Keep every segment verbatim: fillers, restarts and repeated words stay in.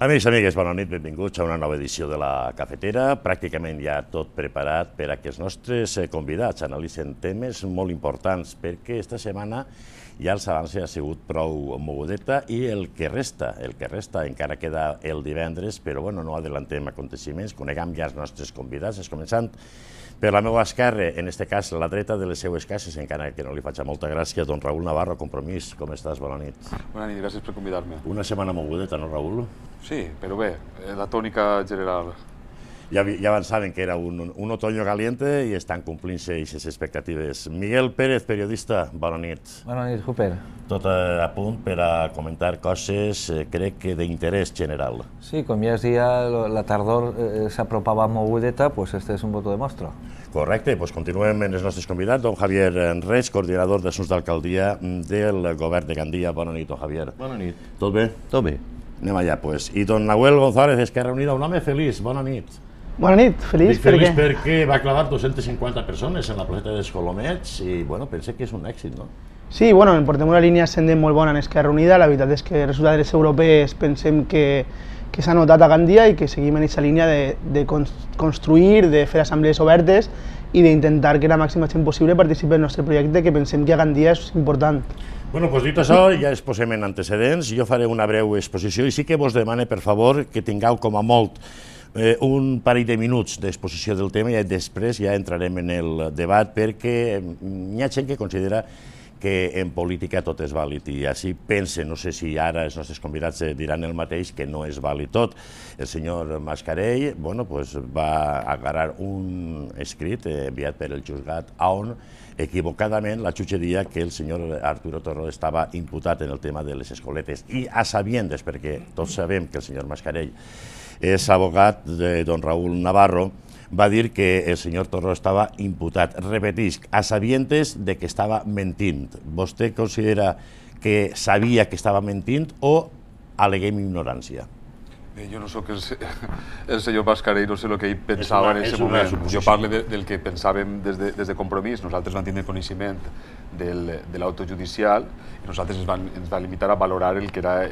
Amics i amigues, bona nit, benvinguts a una nova edició de la Cafetera. Pràcticament ja tot preparat per a que els nostres convidats analitzen temes molt importants, perquè esta setmana ja els avança ha sigut prou mogudeta i el que resta, el que resta encara queda el divendres, però bueno, no adellantem aconteciments, coneguem ja els nostres convidats, començant per la meva esquerra, en aquest cas la dreta de les seues cases, encara que no li faig molta gràcia, don Raül Navarro, Compromís, com estàs? Bona nit. Bona nit, gràcies per convidar-me. Una setmana mogudeta, no, Raül? Sí, però bé, la tònica general. Ja, ja avançaven que era un, un otoño caliente i estan complint-se aquestes expectatives. Miguel Pérez, periodista, bona nit. Bona nit, Hooper. Tot a punt per a comentar coses, eh, crec que d'interès general. Sí, com ja es dia, la tardor eh, s'apropava mogudeta, pues este és un voto de mostra. Correcte, doncs continuem amb els nostres convidats. Don Javier Reig, coordinador d'assumptes d'alcaldia del govern de Gandia. Bona nit, don Javier. Bona nit. Tot bé? Tot bé. Anem allà, doncs. I don Nahuel González, Esquerra Unida, un home feliç. Bona nit. Bona nit, feliç, Dic feliç perquè va clavar dos-centes cinquanta persones en la placeta dels Colomets i, bueno, pense que és un èxit, no? Sí, bueno, portem una línia ascendent molt bona en Esquerra Unida. La veritat és que els resultats europeus pensem que, que s'ha notat a Gandia i que seguim en aquesta línia de, de construir, de fer assemblees obertes i d'intentar que la màxima gent possible participi en el nostre projecte, que pensem que a Gandia és important. Bueno, doncs dit això, ja es posem en antecedents. Jo faré una breu exposició i sí que vos demane, per favor, que tingueu com a molt Eh, un parell de minuts d'exposició del tema i després ja entrarem en el debat, perquè hi ha gent que considera que en política tot és vàlid i així pense, no sé si ara els nostres convidats diran el mateix, que no és vàlid tot. El senyor Mascarell bueno, pues va agarrar un escrit enviat per el juzgat on equivocadament la jutge deia que el senyor Arturo Torró estava imputat en el tema de les escoletes i a sabiendes, perquè tots sabem que el senyor Mascarell és abogat de don Raül Navarro, va dir que el senyor Torró estava imputat. Repetisc, a sabientes de que estava mentint. Vostè considera que sabia que estava mentint o aleguem ignorància? Bé, jo no soc el, el senyor Mascarell, no sé el que ell pensava en aquest moment. Jo parlo de, del que pensàvem des de, des de Compromís. Nosaltres vam tindre coneixement del, de l'autojudicial i nosaltres ens vam, ens vam limitar a valorar el que era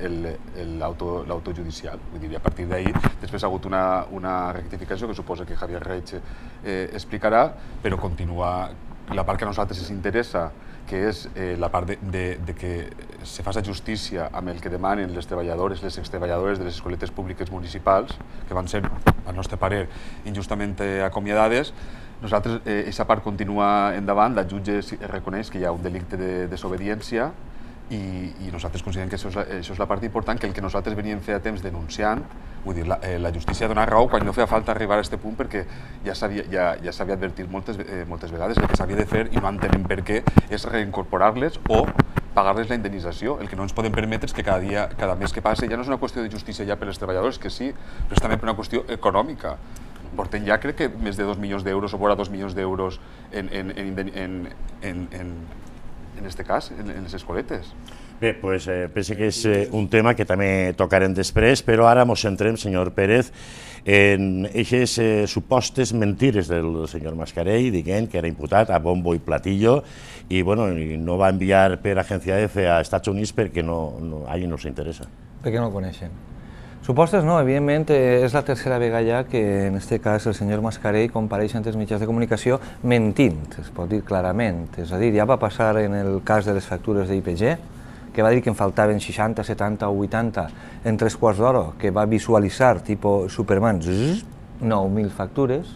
l'autojudicial. Vull dir, a partir d'ahir, després ha hagut una, una rectificació que suposa que Javier Reig eh, explicarà, però continua la part que a nosaltres ens interessa, que és eh, la part de, de, de que se faci justícia amb el que demanen les treballadores, les extreballadores de les escoletes públiques municipals, que van ser, al nostre parer, injustament acomiadades. Nosaltres, aquesta eh, part continua endavant, la jutge reconeix que hi ha un delicte de desobediència i, i nosaltres considerem que això és, això és la part important, que el que nosaltres veníem fer a temps denunciant, vull dir, la, eh, la justícia dona raó quan no feia falta arribar a aquest punt, perquè ja s'havia ja, ja s'havia advertit moltes, eh, moltes vegades. El que s'havia de fer, i no entenem per què, és reincorporar-les o pagar-les la indemnització. El que no ens podem permetre és que cada dia, cada mes que passe, ja no és una qüestió de justícia ja per als treballadors, que sí, però és també per una qüestió econòmica. Portem ja, crec que, més de dos milions d'euros o vora dos milions d'euros en, en, en, en, en, en, en este cas, en, en les escoletes. Bé, doncs eh, penso que és eh, un tema que també tocarem després, però ara ens centrem, senyor Pérez, en aquestes eh, supostes mentires del senyor Mascarell, dient que era imputat a bombo i platillo i bueno, no va enviar per agència F a Estats Units perquè no, no, a ell no s'interessa. Perquè no el coneixen. Supostes no, evidentment és la tercera vegada ja que en aquest cas el senyor Mascarell compareix ante els mitjans de comunicació mentint, es pot dir clarament. És a dir, ja va passar en el cas de les factures d'I P G, que va dir que en faltaven seixanta, setanta o vuitanta en tres quarts d'hora, que va visualitzar, tipus Superman, nou mil factures.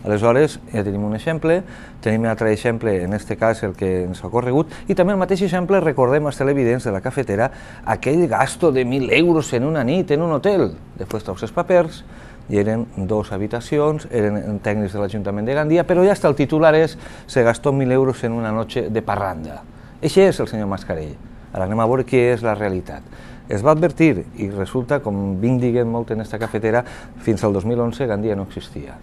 Aleshores, ja tenim un exemple, tenim un altre exemple, en aquest cas el que ens ha corregut, i també el mateix exemple, recordem als televidents de la cafetera, aquell gasto de mil euros en una nit en un hotel. Després traus els papers, i eren dues habitacions, eren tècnics de l'Ajuntament de Gandia, però ja hasta el titular és se gastó mil euros en una noche de parranda. Això és el senyor Mascarell. Ara anem a veure què és la realitat. Es va advertir, i resulta, com vinc dient molt en aquesta cafetera, fins al dos mil onze Gandia no existia.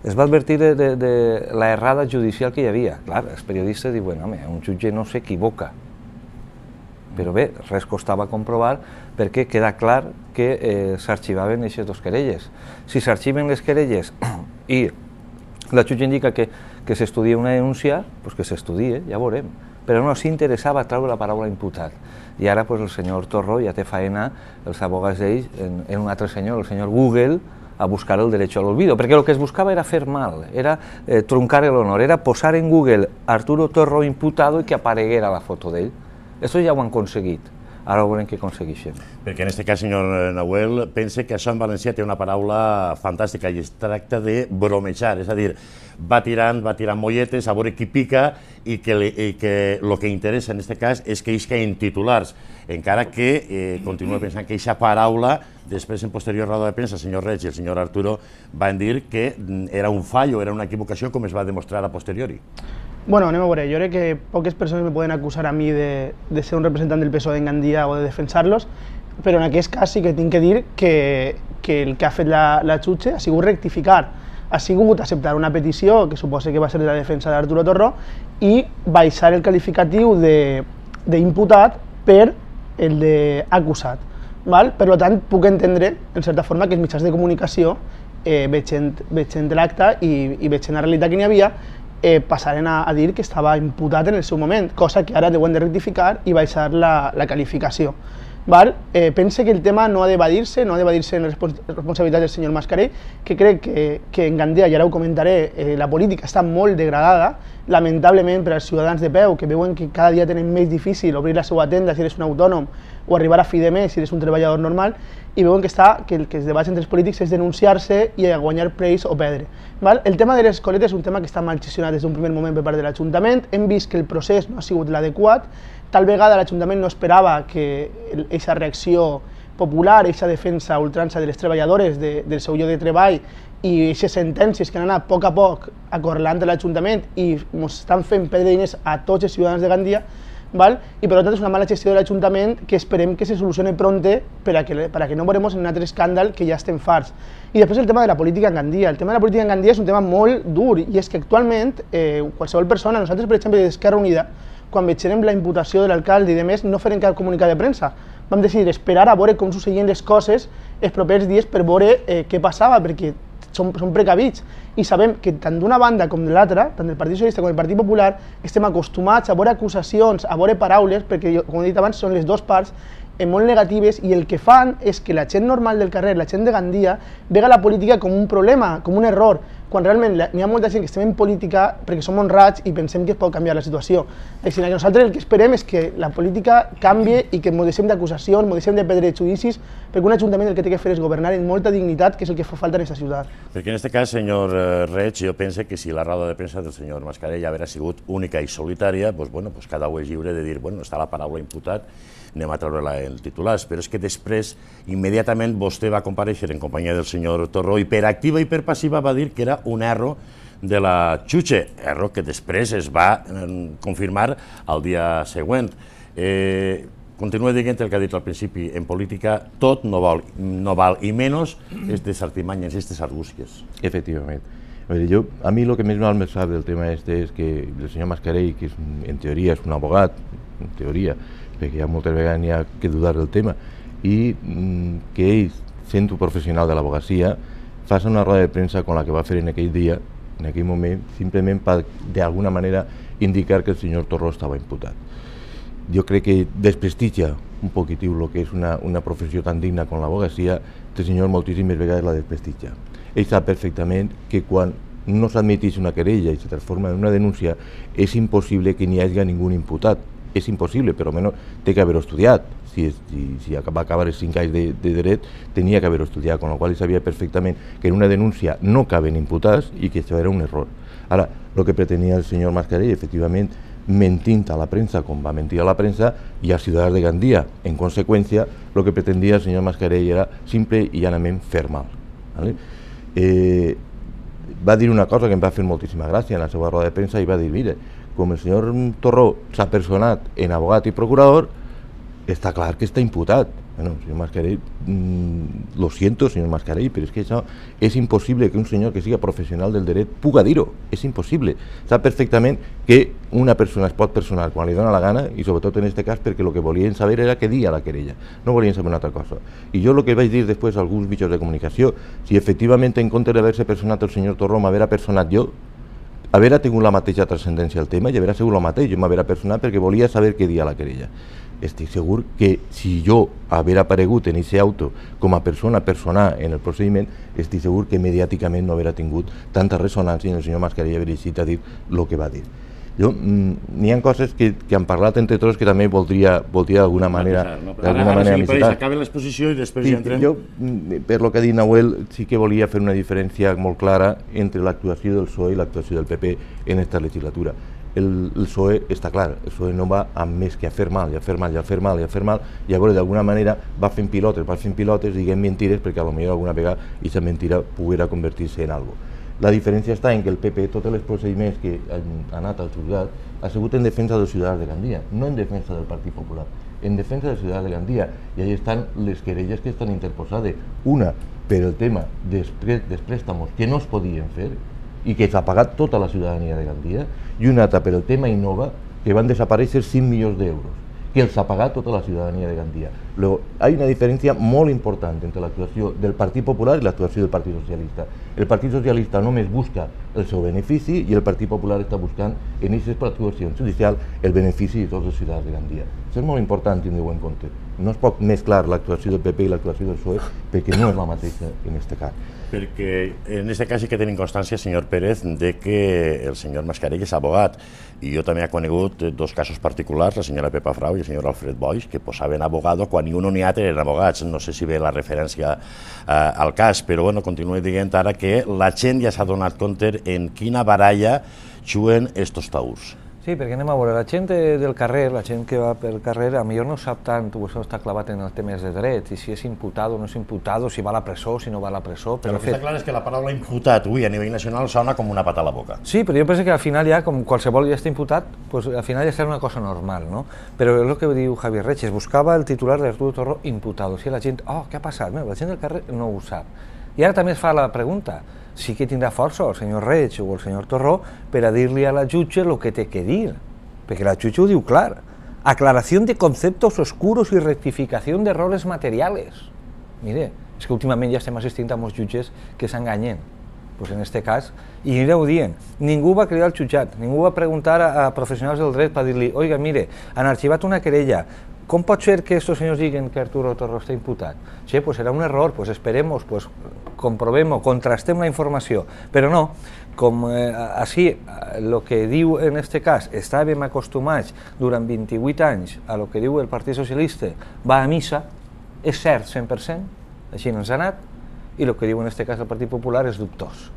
Es va advertir de, de, de la errada judicial que hi havia. Clar, els periodistes diuen, home, un jutge no s'equivoca. Però bé, res costava comprovar perquè queda clar que eh, s'arxivaven aquestes dues querelles. Si s'arxiven les querelles i la jutge indica que, que s'estudia una denúncia, doncs que s'estudie, ja veurem. però no s'interessava a treure la paraula imputat. I ara pues, el senyor Torró ja té faena, els abogats d'ells, en, en un altre senyor, el senyor Google, a buscar el derecho al olvido, perquè el que es buscava era fer mal, era eh, truncar l'honor, era posar en Google Arturo Torró imputado i que apareguera la foto d'ell. Això ja ho han aconseguit. Ara veurem què aconsegueixen. Perquè en aquest cas, senyor Nahuel, pense que això en valencià té una paraula fantàstica i es tracta de bromejar, és a dir, va tirant, va tirant molletes, a veure qui pica i que el que interessa en aquest cas és que ells caien titulars, encara que eh, continua pensant que aquesta paraula, després en posterior roda de premsa, el senyor Reig i el senyor Arturo van dir que era un fallo, era una equivocació, com es va demostrar a posteriori. Bueno, anem a veure, jo crec que poques persones me poden acusar a mi de, de ser un representant del P S O E en Gandia o de defensar-los, però en aquest cas sí que tinc que dir que, que el que ha fet la, la Xuche ha sigut rectificar, ha sigut acceptar una petició que suposa que va ser de la defensa d'Arturo Torró i baixar el qualificatiu d'imputat per el d'acusat. Per tant, puc entendre, en certa forma, que els mitjans de comunicació, eh, veient l'acte i, i veient la realitat que n'hi havia, Eh, passaren a, a dir que estava imputat en el seu moment, cosa que ara deuen de rectificar i baixar la, la qualificació. Val? Eh, pense que el tema no ha d'evadir-se, no ha d'evadir-se en la responsabilitat del senyor Mascarell, que crec que, que en Gandia, i ara ho comentaré, eh, la política està molt degradada, lamentablement per als ciutadans de peu, que veuen que cada dia tenen més difícil obrir la seva tenda si eres un autònom o arribar a fi de mes si eres un treballador normal, i veuen que, està, que el que es debats entre els polítics és denunciar-se i guanyar preis o perdre. Val? El tema de les escoletes és un tema que està mal gestionat des d'un primer moment per part de l'Ajuntament, hem vist que el procés no ha sigut l'adequat, tal vegada l'Ajuntament no esperava que aquesta reacció popular, aquesta defensa a ultrança de les treballadores de, del seu lloc de treball i aquestes sentències que han anat a poc a poc acorralant l'Ajuntament i ens estan fent perdre diners a tots els ciutadans de Gandia, val? I per tant és una mala gestió de l'Ajuntament que esperem que se solucione pronte per a que, per a que no veurem en un altre escàndal que ja estem farts. I després el tema de la política en Gandia. El tema de la política en Gandia és un tema molt dur i és que actualment eh, qualsevol persona, nosaltres per exemple d'Esquerra Unida, quan veiem la imputació de l'alcalde i de més, no farem cap comunicat de premsa. Vam decidir esperar a veure com succeïen les coses els propers dies per veure eh, què passava, perquè som, som precavits i sabem que tant d'una banda com de l'altra, tant del Partit Socialista com del Partit Popular, estem acostumats a veure acusacions, a veure paraules, perquè, com he dit abans, són les dues parts eh, molt negatives i el que fan és que la gent normal del carrer, la gent de Gandia, vega la política com un problema, com un error, quan realment n'hi ha molta gent que estem en política perquè som honrats i pensem que es pot canviar la situació. Així que nosaltres el que esperem és que la política canvi i que ens deixem d'acusacions, ens deixem de perdre judicis, perquè un ajuntament el que té que fer és governar amb molta dignitat, que és el que fa falta en aquesta ciutat. Perquè en aquest cas, senyor Reig, jo penso que si la roda de premsa del senyor Mascarell haguera sigut única i solitària, doncs, bueno, doncs cada un és lliure de dir, bueno, està la paraula imputat, anem a treure-la en titulars, però és que després, immediatament, vostè va comparèixer en companyia del senyor Torró i per activa i per passiva va dir que era un erro de la Xuche, erro que després es va confirmar el dia següent. Eh, Continua dient el que ha dit al principi, en política tot no val, no val i menys aquestes artimanyes, aquestes argúcies. Efectivament. A, veure, jo, a mi el que més mal me sap del tema este és que el senyor Mascarell, que és, en teoria és un abogat, en teoria, perquè ja moltes vegades n'hi ha que dudar del tema, i mm, que ell, sent un professional de l'abogacia, faci una roda de premsa com la que va fer en aquell dia, en aquell moment, simplement per, d'alguna manera, indicar que el senyor Torró estava imputat. Jo crec que desprestigia un poquitiu el que és una, una professió tan digna com l'abogacia, el senyor moltíssimes vegades la desprestigia. Ell sap perfectament que quan no s'admeteix una querella i se transforma en una denúncia, és impossible que n'hi hagi ningú imputat. És impossible, però almenys té que haver-ho estudiat. Si, si, si va acabar els cinc anys de, de dret, tenia que haver-ho estudiat, amb la qual sabia perfectament que en una denúncia no caben imputats i que això era un error. Ara, el que pretenia el senyor Mascarell, efectivament, mentint a la premsa com va mentir a la premsa i als ciutadans de Gandia. En conseqüència, el que pretendia el senyor Mascarell era simple i llanament fer mal. ¿Vale? Eh, va dir una cosa que em va fer moltíssima gràcia en la seva roda de premsa i va dir, mire, com el senyor Torró s'ha personat en abogat i procurador, està clar que està imputat. Bueno, senyor Mascarell, mmm, lo siento, senyor Mascarell, però és que això és impossible que un senyor que siga professional del dret puga dir-ho, és impossible. Sap perfectament que una persona es pot personar quan li dona la gana i sobretot en aquest cas perquè el que volien saber era què dia la querella, no volien saber una altra cosa. I jo el que vaig dir després a alguns mitjans de comunicació, si efectivament en compte d'haver-se personat el senyor Torró m'haver personat jo, haver tingut la mateixa transcendència al tema i haver sigut el mateix, jo m'haver personat perquè volia saber què dia la querella. Estic segur que si jo haver aparegut en aquest auto com a persona personal en el procediment, estic segur que mediàticament no haver tingut tanta ressonància i el senyor Mascarell haver eixit a dir el que va dir. N'hi ha coses que han parlat entre tots que també voldria d'alguna manera citar. Acaba l'exposició i després ja entrem. Jo, per lo que ha dit Nahuel, sí que volia fer una diferència molt clara entre l'actuació del P S O E i l'actuació del P P en aquesta legislatura. El P S O E està clar, el P S O E no va amb més que a fer mal, i a fer mal, i a fer mal, i a fer mal, i llavors d'alguna manera va fent pilotes, va fent pilotes, diguem mentires, perquè potser alguna vegada aquesta mentira poguera convertir-se en alguna cosa. La diferència està en que el P P, tots els procediments que han anat al jutjat, ha sigut en defensa dels ciutadans de Gandia, no en defensa del Partit Popular, en defensa dels ciutadans de Gandia, i allà estan les querelles que estan interposades, una per el tema dels préstamos que no es podien fer i que s'ha pagat tota la ciutadania de Gandia, i una altra per el tema Innova, que van desaparèixer cinc milions d'euros, que els ha pagat tota la ciutadania de Gandia. Luego, hay una diferència molt important entre l'actuació del Partit Popular i l'actuació del Partit Socialista. El Partit Socialista només busca el seu benefici i el Partit Popular està buscant en aquesta actuació judicial el benefici de tots els ciutadans de Gandia. Això és molt important tindre-ho en compte. No es pot mesclar l'actuació del P P i l'actuació del P S O E perquè no és la mateixa en aquest cas. Perquè en aquest cas sí que tenim constància, senyor Pérez, de que el senyor Mascarell és abogat, i jo també he conegut dos casos particulars, la senyora Pepa Frau i el senyor Alfred Boix, que posaven abogado quan ni un ni altre eren abogats. No sé si ve la referència al cas, però bueno, continuo dient ara que la gent ja s'ha donat compte en quina baralla juguen estos taüts. Sí, perquè anem a veure, la gent del carrer, la gent que va pel carrer, a millor no sap tant, això està clavat en els temes de dret, i si és imputat o no és imputat, si va a la presó, si no va a la presó. Però el que està clar és que la paraula imputat, avui a nivell nacional, sona com una pata a la boca. Sí, però jo penso que al final ja, com qualsevol ja està imputat, al final ja serà una cosa normal, no? Però és el que diu Javier Reig, es buscava el titular d'Arturo Torró imputado, si la gent, oh, què ha passat? La gent del carrer no ho sap. I ara també es fa la pregunta, sí que tindrà força el senyor Reig o el senyor Torró per a dir-li a la jutge el que té que dir, perquè la jutge ho diu clar, aclaració de conceptos oscuros i rectificació d'errores materials. Mire, és que últimament ja estem assistint a molts jutges que s'enganyen, doncs en aquest cas, i anireu dient, ningú va cridar al jutjat, ningú va preguntar a professionals del dret per dir-li, oiga, mire, han arxivat una querella, com pot ser que estos senyors diguen que Arturo Torró està imputat? Sí, pues serà un error, pues esperemos, pues comprovem, contrastem la informació, però no, com eh, així, el que diu en aquest cas, estàvem acostumats durant vint-i-vuit anys a el que diu el Partit Socialista, va a missa, és cert cent per cent, així ens ha anat, i el que diu en aquest cas el Partit Popular és dubtós.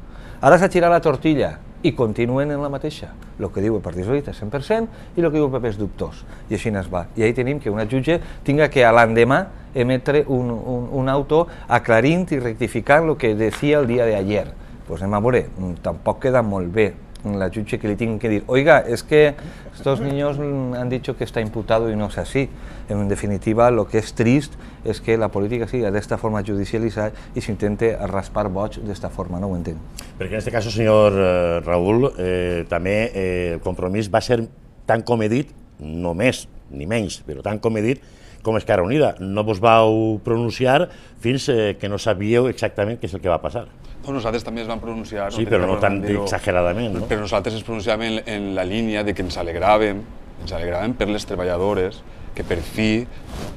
Ara s'ha girat la tortilla i continuen en la mateixa. El que diu el Partit Socialista és cent per cent i el que diu el P P és dubtós. I així es va. I ahí tenim que una jutge tinga que a l'endemà emetre un, un, un auto aclarint i rectificant el que decía el dia d'ayer. Pues anem a veure, tampoc queda molt bé la jutge que li tingui que dir, oiga, es que estos niños han dicho que está imputado y no es así. En definitiva, lo que es trist es que la política siga de esta forma judicializada y se intente raspar boig de esta forma, no ho entenc. Perquè en aquest cas, senyor eh, Raül, eh, també eh, el compromís va ser tan com he dit, no més ni menys, però tan com he dit, com Esquerra Unida. No vos vau pronunciar fins eh, que no sabíeu exactament què és el que va passar. No, nosaltres també es vam pronunciar. Sí, però no tan exageradament, no? Però nosaltres ens pronunciàvem en, en la línia de que ens alegràvem, ens alegràvem per les treballadores, que per fi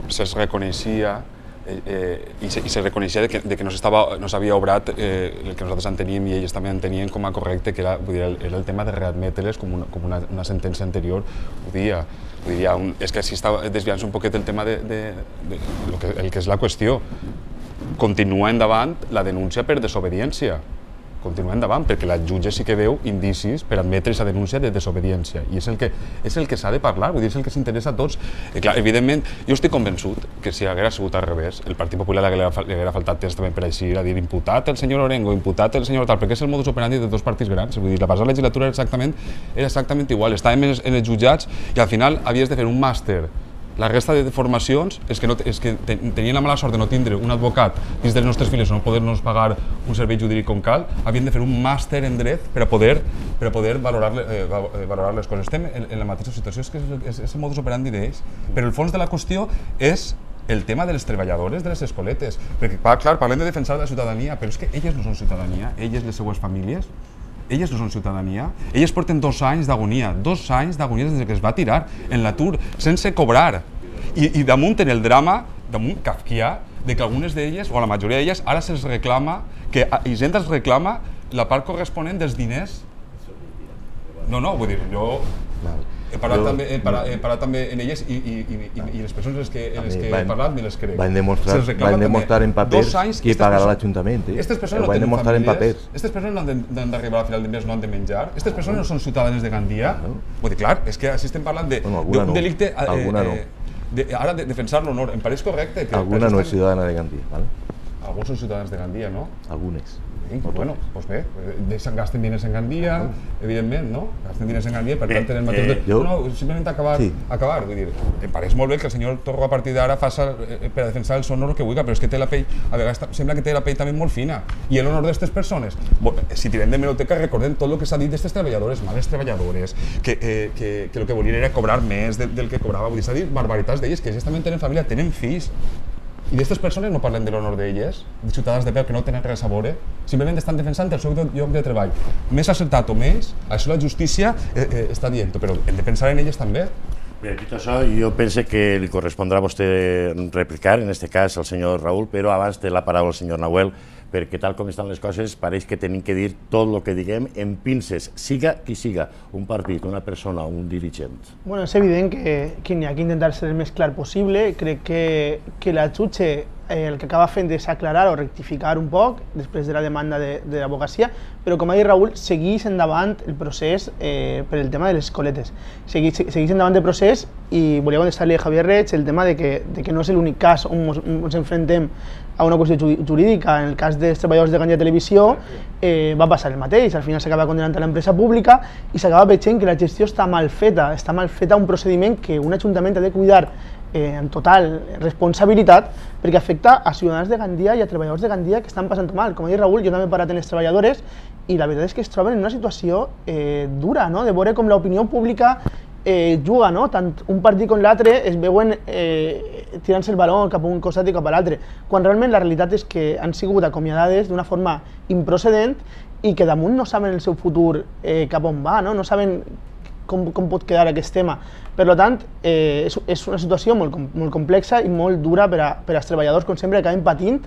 se'ls reconeixia eh, eh, i, se, i se reconeixia de que, de que no s'havia obrat eh, el que nosaltres enteníem i ells també entenien com a correcte, que era, vull dir, era el tema de readmetre-les com, una, com una, una sentència anterior ho dia. Vull dir, un, és que així està desviant-se un poquet el tema de, de, de, de lo que, el que és la qüestió. Continua endavant la denúncia per desobediència. Continua endavant, perquè la jutge sí que veu indicis per admetre aquesta denúncia de desobediència. I és el que, és el que s'ha de parlar, vull dir, és el que s'interessa a tots. I clar, evidentment, jo estic convençut que si haguera sigut al revés, el Partit Popular li haguera faltat temps també per així, a dir imputat el senyor Orengo, imputat el senyor tal, perquè és el modus operandi de dos partits grans. Vull dir, la passada legislatura era exactament, era exactament igual. Estàvem en els jutjats i al final havies de fer un màster. La resta de formacions és que, no, és que tenien la mala sort de no tindre un advocat dins dels nostres files o no poder-nos pagar un servei jurídic com cal, havien de fer un màster en dret per a poder, per a poder valorar, eh, valorar les coses. Estem en, en la mateixa situació, és que és, és, és el modus operandi d'ells. Però el fons de la qüestió és el tema de les treballadores de les escoletes. Perquè, clar, parlem de defensar la ciutadania, però és que elles no són ciutadania, elles, les seues famílies, elles no són ciutadania. Elles porten dos anys d'agonia, dos anys d'agonia des que es va tirar en l'atur, sense cobrar. I, i damunt en el drama, damunt kafkià, de que algunes d'elles, o la majoria d'elles, ara se'ls reclama, que Hisenda els reclama la part corresponent dels diners. No, no, vull dir, jo... He parlat, jo, també, he, parat, he parat també en elles i, i, i, i les persones que, en les que he parlat me les crec. Van demostrar, van demostrar en papers qui pagarà l'Ajuntament. Aquestes persones no tenen famílies, aquestes persones no han d'arribar a final de mes, no han de menjar, aquestes persones no són ciutadanes de Gandia. Vull dir, clar, és que així estem parlant d'un delicte... Alguna no. Ara, defensar l'honor, em pareix correcte que... Alguna no és ciutadana de Gandia, ¿vale? Alguns són ciutadans de Gandia, no? Algunes. Bueno, doncs bé, deixen, gasten diners en Gandia, evidentment, no? Gasten diners en Gandia, per tant tenen mateix... No, simplement acabar, acabar, vull dir, em pareix molt bé que el senyor Torro a partir d'ara faça per a defensar el seu honor el que vulgui, però és que té la pell, a vegades sembla que té la pell també molt fina. I l'honor d'aquestes persones, si tirem de hemeroteca recordem tot el que s'ha dit d'aquestes treballadores, males treballadores, que el que volien era cobrar més del que cobrava, vull dir, s'ha dit barbaritats d'elles, que ells també tenen família, tenen fills. I d'aquestes persones no parlem de l'honor d'elles, de ciutadans de peu que no tenen res a veure, simplement estan defensant el seu lloc de treball. Més acertat o més, això la justícia eh, eh, està dient, però hem de pensar en elles també. Bé, dit això, jo penso que li correspondrà a vostè replicar, en aquest cas al senyor Raül, però abans té la paraula el senyor Nahuel, perquè tal com estan les coses pareix que tenim que dir tot el que diguem en pinces, siga qui siga, un partit, una persona, un dirigent. Bueno, és evident que, que n'hi ha que intentar ser el més clar possible. Crec que, que la jutge eh, el que acaba fent és aclarar o rectificar un poc després de la demanda de, de l'advocacia, però com ha dit Raül, segueix endavant el procés eh, per el tema de les coletes. Segueix, segueix endavant el procés i volia contestar-li a Javier Reig el tema de que, de que no és l'únic cas on ens, ens enfrontem a una qüestió jurídica. En el cas dels treballadors de Gandia Televisió eh, va passar el mateix, al final s'acaba condenant a l'empresa pública i s'acaba veient que la gestió està mal feta, està mal feta un procediment que un ajuntament ha de cuidar eh, amb total responsabilitat perquè afecta a ciutadans de Gandia i a treballadors de Gandia que estan passant mal. Com ha dit Raül, jo també he parat en les treballadores i la veritat és que es troben en una situació eh, dura, no? De veure com l'opinió pública eh, juga, no? Tant un partit com l'altre es veuen eh, tirant-se el baló cap a un costat i cap a l'altre, quan realment la realitat és que han sigut acomiadades d'una forma improcedent i que damunt no saben el seu futur eh, cap on va, no, no saben com, com pot quedar aquest tema. Per tant, eh, és, és una situació molt, molt complexa i molt dura per, a, per als treballadors, com sempre, que acaben patint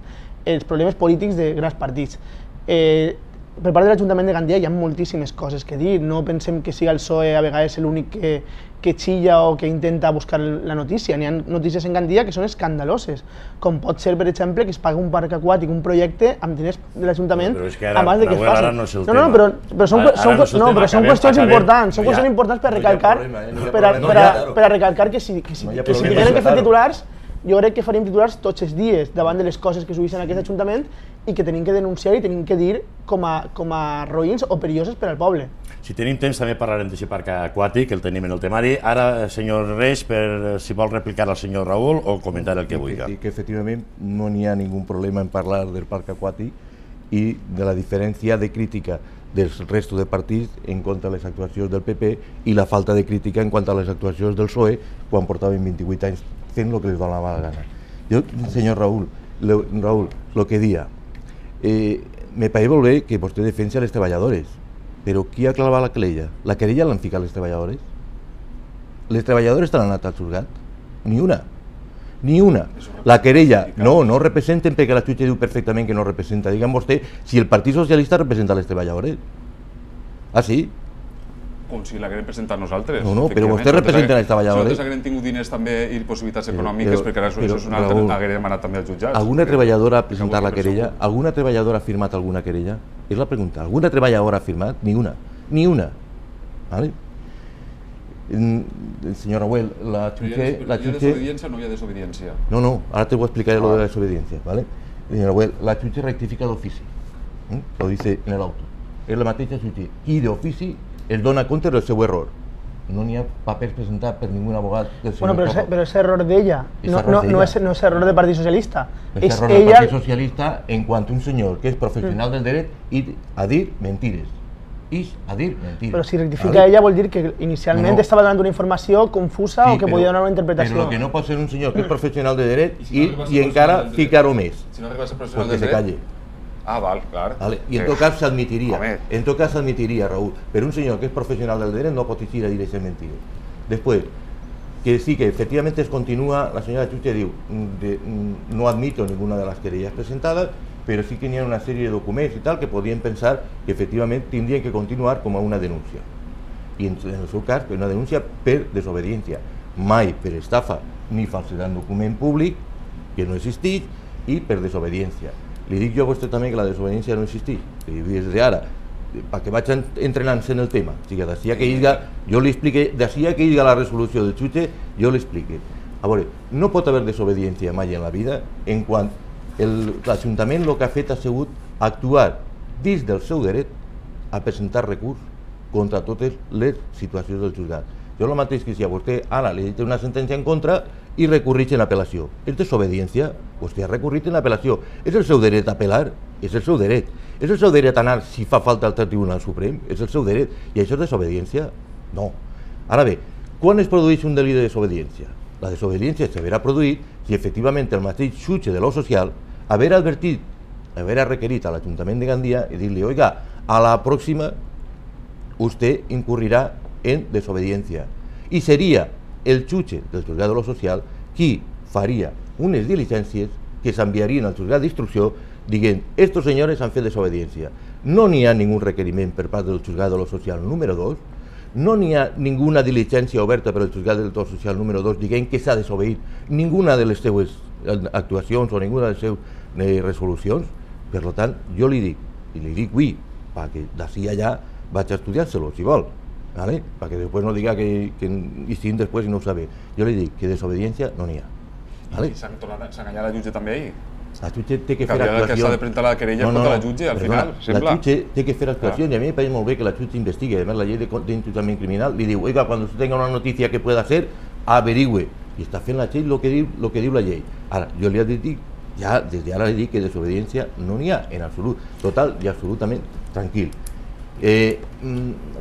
els problemes polítics de grans partits. Eh, Per part de l'Ajuntament de Gandia hi ha moltíssimes coses que dir. No pensem que sigui el P S O E a vegades l'únic que, que xilla o que intenta buscar la notícia. N'hi ha notícies en Gandia que són escandaloses, com pot ser, per exemple, que es pagui un parc aquàtic, un projecte amb diners de l'Ajuntament abans de que es faci. No, és el no, no, però, però són, ara, són, ara no, però són qüestions importants, són qüestions importants per a recalcar, per a, per a, per a recalcar que si, que si, no que si tinguem que fer titulars, jo crec que faríem titulars tots els dies davant de les coses que s'ubicen en aquest Ajuntament i que tenim que denunciar i tenim que dir com a, com a roïns o perilloses per al poble. Si tenim temps també parlarem d'aquest parc aquàtic, el tenim en el temari. Ara, senyor Reig, per si vol replicar al senyor Raül o comentar el que vulgui. Que, que efectivament no n'hi ha ningú problema en parlar del parc aquàtic i de la diferència de crítica dels restos de partits en contra de les actuacions del P P i la falta de crítica en quant a les actuacions del P S O E quan portaven vint-i-vuit anys fent el que les donava la gana. Jo, senyor Raül, le, Raül, el que dia, eh, me pareix molt bé que vostè defensa les treballadores, però qui ha clavat la querella? La querella l'han ficat les treballadores? Les treballadores t'han anat al juzgat? Ni una. Ni una. La querella, no, no representen perquè la jutge diu perfectament que no representa. Digue'm vostè si el Partit Socialista representa les treballadores. Ah, sí? Com si l'haguem presentat nosaltres. No, no, però vostè representa les treballadores. Nosaltres haguem tingut diners també i possibilitats econòmiques perquè ara això és una altra, haguem anat també als jutjats. Alguna treballadora ha presentat la querella? Alguna treballadora ha firmat alguna querella? És la pregunta. Alguna treballadora ha firmat? Ni una. Ni una. Vale? Senyor Raúl, la jutge... Hi ha desobediència o no hi ha desobediència? No, no, ara te voy a explicar lo de la desobediencia, ¿vale? Señor Raúl, la jutge rectifica d'ofici, ¿eh? Lo dice en el auto. És la mateixa jutge i d'ofici es dona compte del seu error. No n'hi ha papers presentats per ningú abogat del senyor Bueno, però, però és error d'ella, no, no, no, és, no és error del Partit Socialista. És, és error del ella... Partit Socialista en quant a un senyor que és professional mm. del dret i a dir mentires. I a dir mentires. Però si rectifica ella vol dir que inicialment no, no. estava donant una informació confusa sí, o que però, podia donar una interpretació. Però que no pot ser un senyor que és professional de dret i, si no i, i encara ficar-ho més. Si no arribes a professional de dret, Ah, val, clar. Vale? I en Eh, tot cas s'admitiria, home. en tot cas s'admitiria, Raúl, però un senyor que és professional del dret no pot eixir a dir aquestes mentides. Després, que sí, que efectivamente es continúa, la señora Chuche diu, de, no admito ninguna de las querellas presentadas, pero sí que tenía una serie de documentos y tal que podían pensar que efectivamente tendrían que continuar como una denuncia. Y en, en el seu cas, una denuncia per desobediència, mai per estafa ni falsedad en document públic, que no existís, i per desobediència. Li dic jo a vostè també que la desobediència no existís, i des d'ara, perquè vaig entrenant-se en el tema. O sigui, d'ací que hi jo li explique, d'ací que hi la resolució del jutge, jo li explique. A veure, no pot haver desobediència mai en la vida en quan l'Ajuntament el que ha fet ha sigut actuar dins del seu dret a presentar recurs contra totes les situacions del jutjat. Jo el mateix que si a vostè ara li dit una sentència en contra i recorreix en apel·lació. És desobediència, vostè ha recorrit en apel·lació. És el seu dret a apel·lar, és el seu dret. És el seu dret a anar, si fa falta, al Tribunal Suprem, és el seu dret. I això és desobediència? No. Ara bé, quan es produeix un delit de desobediència? La desobediència s'haurà produït si efectivament el mateix jutge de lo social haver advertit, haver requerit a l'Ajuntament de Gandia i dir-li, oiga, a la pròxima usted incurrirà en desobediència. I seria el jutge del juzgat de lo social qui faria unes diligències que s'enviarien al juzgat d'instrucció dient, estos senyores han fet desobediència. No n'hi ha ningú requeriment per part del juzgat de lo social número dos, no n'hi ha ninguna diligència oberta per al juzgat de lo social número dos dient que s'ha desobeït ninguna de les seues actuacions o ninguna de les seues eh, resolucions. Per tant, jo li dic, i li dic avui, perquè d'ací allà vaig a estudiar-se-lo, si vol, ¿vale? Perquè després no diga que, que hi estigui després i no ho sabe. Jo li dic que desobediència no n'hi ha. ¿Vale? I s'han enganyat la jutge també ahir? La jutge té que fer que actuacions. Que s'ha de presentar la querella no, no, contra la jutge, al perdona, final, sembla. La jutge té que fer actuacions ah. i a mi me parece molt bé que la jutge investigue. Además, la llei d'enjudiciament criminal li diu, oiga, cuando usted tenga una noticia que pueda ser, averigüe. I està fent la llei el que diu, lo que diu la llei. Ara, jo li he dit, ja des d'ara li dic que desobediència no n'hi ha en absolut, total i absolutament tranquil. Eh,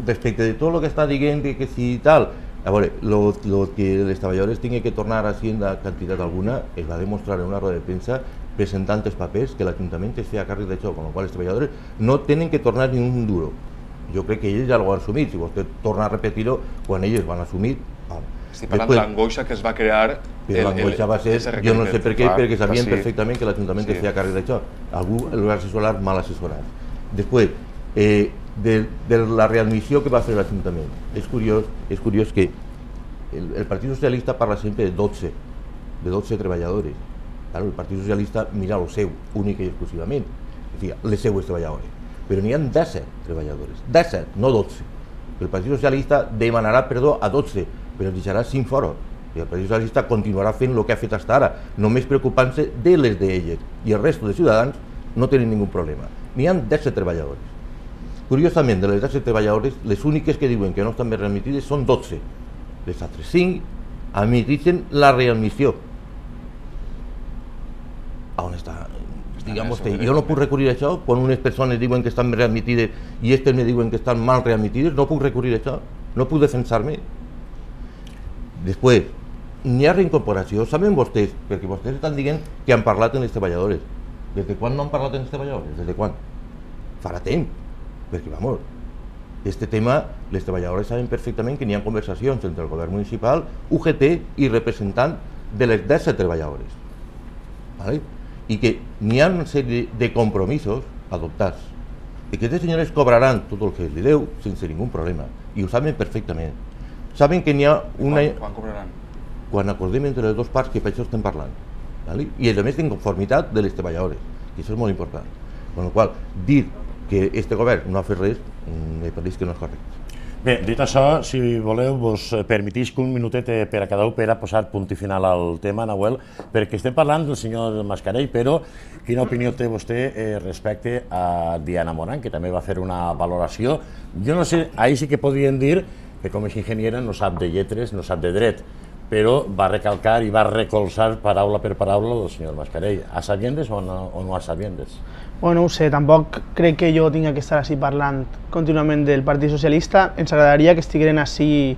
respecte de tot el que està dient que si tal, a veure, lo, lo que les treballadores tinguin que tornar a Hacienda quantitat alguna es va demostrar en una roda de premsa presentant els papers que l'Ajuntament es feia càrrec d'això, amb la qual els treballadors no tenen que tornar ni un duro. Jo crec que ells ja ho han assumit, si vostè torna a repetir-ho, quan ells van assumir... Estic parlant de l'angoixa que es va crear... Però l'angoixa va ser, jo no sé per què, perquè sabien perfectament que l'Ajuntament es feia càrrec d'això. Algú el va assessorar mal assessorat. Després, eh, de, de la readmissió que va fer l'Ajuntament. És curiós, és curiós que el, el Partit Socialista parla sempre de dotze, de dotze treballadores. Claro, el Partit Socialista mira el seu, únic i exclusivament, o sigui, les seues treballadores. Però n'hi ha disset treballadores, disset, no dotze. El Partit Socialista demanarà perdó a dotze, però els deixarà cinc fora. I el Partit Socialista continuarà fent el que ha fet fins ara, només preocupant-se de les d'elles. I el resto de ciutadans no tenen ningú problema. N'hi ha disset treballadores. Curiosament, de les disset treballadores, les úniques que diuen que no estan més readmitides són dotze. Les altres cinc admetixen la readmissió. On està? Digue'm vostè, jo no puc recurrir a això quan unes persones diuen que estan readmitides i aquestes me diuen que estan mal readmitides, no puc recurrir a això, no puc defensar-me. Després, n'hi ha reincorporació, saben vostès, perquè vostès estan dient que han parlat amb les treballadores. Des de quan no han parlat amb les treballadores? Des de quan? Farà temps, perquè, vamos, este tema, les treballadores saben perfectament que n'hi ha conversacions entre el govern municipal, U G T i representant de les disset treballadores. ¿Vale? I que n'hi ha una sèrie de compromisos adoptats i que aquestes senyores cobraran tot el que li deu sense ningú problema i ho saben perfectament. Saben que n'hi ha una... Quan, quan cobraran? Quan acordem entre les dues parts que per això estem parlant. ¿Vale? I a més en conformitat de les treballadores, que això és molt important. Amb la qual dir que este govern no ha fet res, me pareix que no és correcte. Bé, dit això, si voleu, vos permetís que un minutet per a cada un per a posar punt i final al tema, Nahuel, perquè estem parlant del senyor Mascarell, però quina opinió té vostè respecte a Diana Morán, que també va fer una valoració? Jo no sé, ahir sí que podrien dir que com és ingeniera no sap de lletres, no sap de dret, però va recalcar i va recolzar paraula per paraula del senyor Mascarell. A sabiendes o no, o no a sabiendes? Bueno, no ho sé, tampoc crec que jo tinga que estar així parlant contínuament del Partit Socialista. Ens agradaria que estigueren així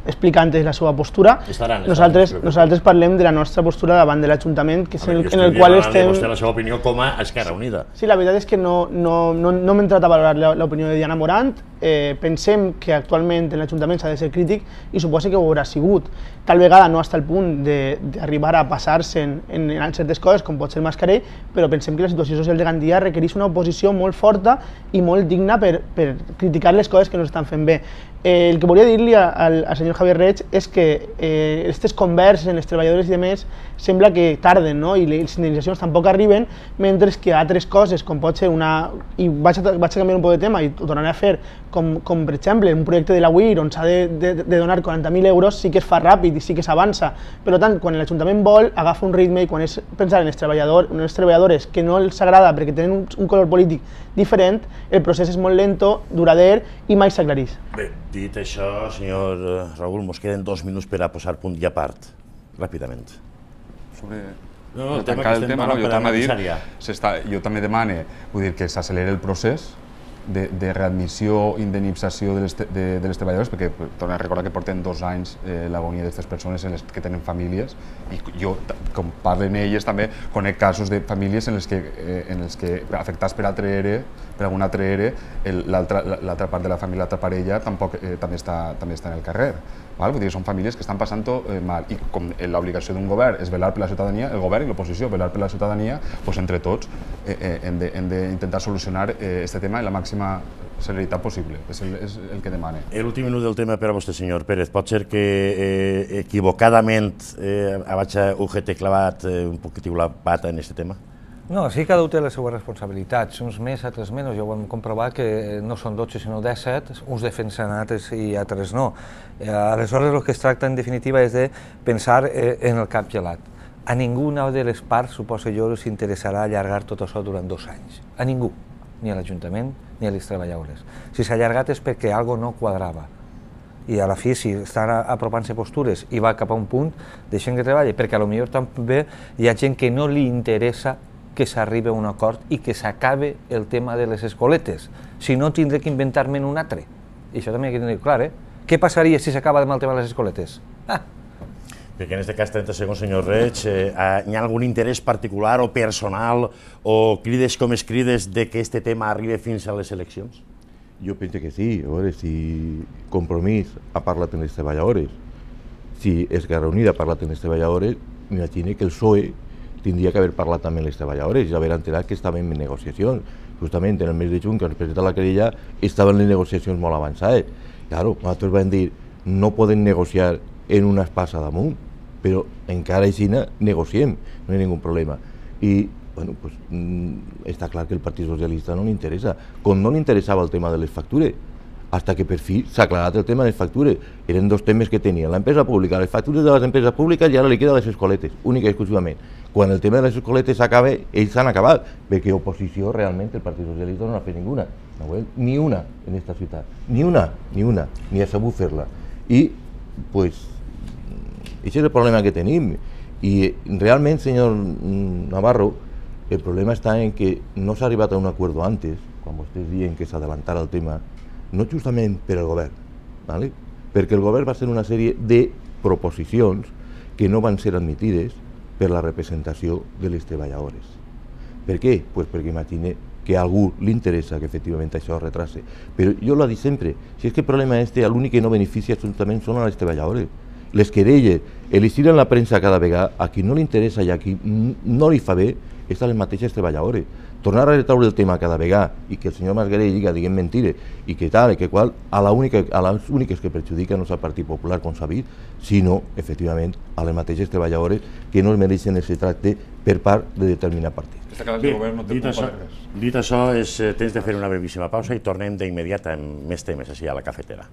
explicant la seva postura. Estaran, nosaltres, estaran, nosaltres parlem de la nostra postura davant de l'Ajuntament, que és veure, el, en el qual estem... Vostè la seva opinió com a Esquerra Unida. Sí, la veritat és que no, no, no, no m'he entrat a valorar l'opinió de Diana Morant. Eh, pensem que actualment en l'Ajuntament s'ha de ser crític i suposa que ho haurà sigut. Tal vegada no fins al punt d'arribar a passar-se en, en, en certes coses, com pot ser el Mascarell, però pensem que la situació social de Gandia requereix una oposició molt forta i molt digna per, per criticar les coses que no s'estan fent bé. Eh, el que volia dir-li al, al senyor Javier Reig és que aquestes eh, converses en els treballadors i demés sembla que tarden, no? I les indemnitzacions tampoc arriben, mentre que altres coses, com pot ser una... I vaig a, vaig a canviar un poc de tema i ho tornaré a fer, com, com per exemple un projecte de la U I R on s'ha de, de, de donar quaranta mil euros, sí que es fa ràpid i sí que s'avança. Per tant, quan l'Ajuntament vol, agafa un ritme i quan és pensar en els, treballador, en els treballadors que no els agrada perquè tenen un, un color polític diferent, el procés és molt lento, durader i mai s'aclareix. Bé, dit això, senyor Raül, mos queden dos minuts per a posar punt i a part, ràpidament. Sobre no, no, el tancar el tema, no, jo també dir, ja. jo també demane, vull dir que s'accelera el procés de, de readmissió, indemnització de les, de, de les treballadores, perquè torno a recordar que porten dos anys eh, l'agonia d'aquestes persones en les que tenen famílies i jo, com parlen elles, també conec casos de famílies en les que, eh, en els que afectats per altre E R E, per algun altre E R E, l'altra part de la família, l'altra parella, tampoc, eh, també, està, també està en el carrer. Val? Vull dir, són famílies que estan passant-ho eh, mal i com l'obligació d'un govern és velar per la ciutadania, el govern i l'oposició velar per la ciutadania, doncs entre tots eh, eh, hem d'intentar solucionar aquest eh, tema en la màxima celeritat possible, és el, és el que demane. L'últim minut del tema per a vostè, senyor Pérez. Pot ser que eh, equivocadament eh, vaig a U G T clavat eh, un poquitiu la pata en aquest tema? No, sí, cada un té les seues responsabilitats, uns més, altres menys. Ja ho hem comprovat que no són dotze sinó disset, uns defensen altres i altres no. Aleshores el que es tracta en definitiva és de pensar en el cap gelat. A ninguna de les parts, suposo jo, els interessarà allargar tot això durant dos anys. A ningú, ni a l'Ajuntament ni a les treballadores. Si s'ha allargat és perquè alguna cosa no quadrava. I a la fi, si estan apropant-se postures i va cap a un punt, deixem que treballi, perquè potser també hi ha gent que no li interessa que s'arribi a un acord i que s'acabe el tema de les escoletes. Si no, tindré que inventar-me'n un altre. I això també hay que tenir clar, eh? Què passaria si s'acaba amb el tema de les escoletes? Ah! Perquè en aquest cas, trenta segons, senyor Reig, eh, hi ha algun interès particular o personal o crides com es crides de que aquest tema arribi fins a les eleccions? Jo penso que sí. A veure, si Compromís ha parlat amb les treballadores, si Esquerra Unida ha parlat amb les treballadores, m'imagino que el P S O E tindria que haver parlat també amb les treballadores i haver enterat que estàvem en negociacions. Justament en el mes de juny, que ens presenta la querella, estaven les negociacions molt avançades. Claro, nosaltres vam dir, no poden negociar en una espasa damunt, però encara així negociem, no hi ha ningú problema. I, bueno, pues, està clar que el Partit Socialista no li interessa, com no li interessava el tema de les factures, hasta que per fi s'ha aclarat el tema de les factures. Eren dos temes que tenien, l'empresa pública, les factures de les empreses públiques i ara li queda les escoletes, única i exclusivament. Quan el tema de les escoletes s'acaba, ells s'han acabat, perquè oposició realment el Partit Socialista no n'ha fet ninguna, ni una en aquesta ciutat, ni una, ni una, ni ha sabut fer-la. I, pues, aquest és el problema que tenim. I realment, senyor Navarro, el problema està en que no s'ha arribat a un acord antes, quan vostès diuen que s'adelantara el tema, no justament per al govern, ¿vale? Perquè el govern va fer una sèrie de proposicions que no van ser admitides per la representació de les treballadores. Per què? Pues perquè imagine que a algú li interessa que efectivament això es retrase. Però jo l'ho dic sempre, si és que el problema és que l'únic que no beneficia absolutament són a les treballadores. Les querelles, elegir en la premsa cada vegada, a qui no li interessa i a qui no li fa bé, és a les mateixes treballadores. Tornar a retraure el tema cada vegada i que el senyor Mascarell diga, diguem mentires, i que tal, i que qual, a, la única, a les úniques que perjudica no és el Partit Popular, com s'ha vist, sinó, efectivament, a les mateixes treballadores que no es mereixen aquest tracte per part de determinat partit. Bé, dit això, dit això és temps de fer una brevíssima pausa i tornem d'immediat amb més temes així a la cafetera.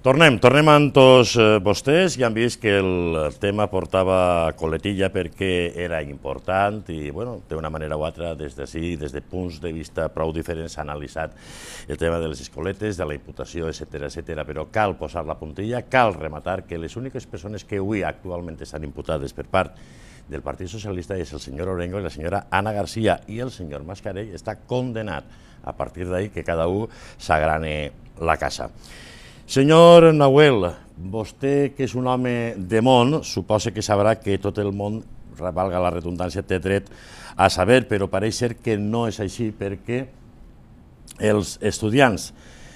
Tornem, tornem amb tots vostès. Ja han vist que el tema portava coletilla perquè era important i, bueno, d'una manera o altra, des d'ací, des de punts de vista prou diferents, s'ha analitzat el tema de les escoletes, de la imputació, etcètera, etcètera. Però cal posar la puntilla, cal rematar que les úniques persones que avui actualment estan imputades per part del Partit Socialista és el senyor Orengo i la senyora Ana García, i el senyor Mascarell està condenat. A partir d'ahí que cada un s'agrane la casa. Senyor Nahuel, vostè, que és un home de món, suposa que sabrà que tot el món, valga la redundància, té dret a saber, però pareix ser que no és així, perquè els estudiants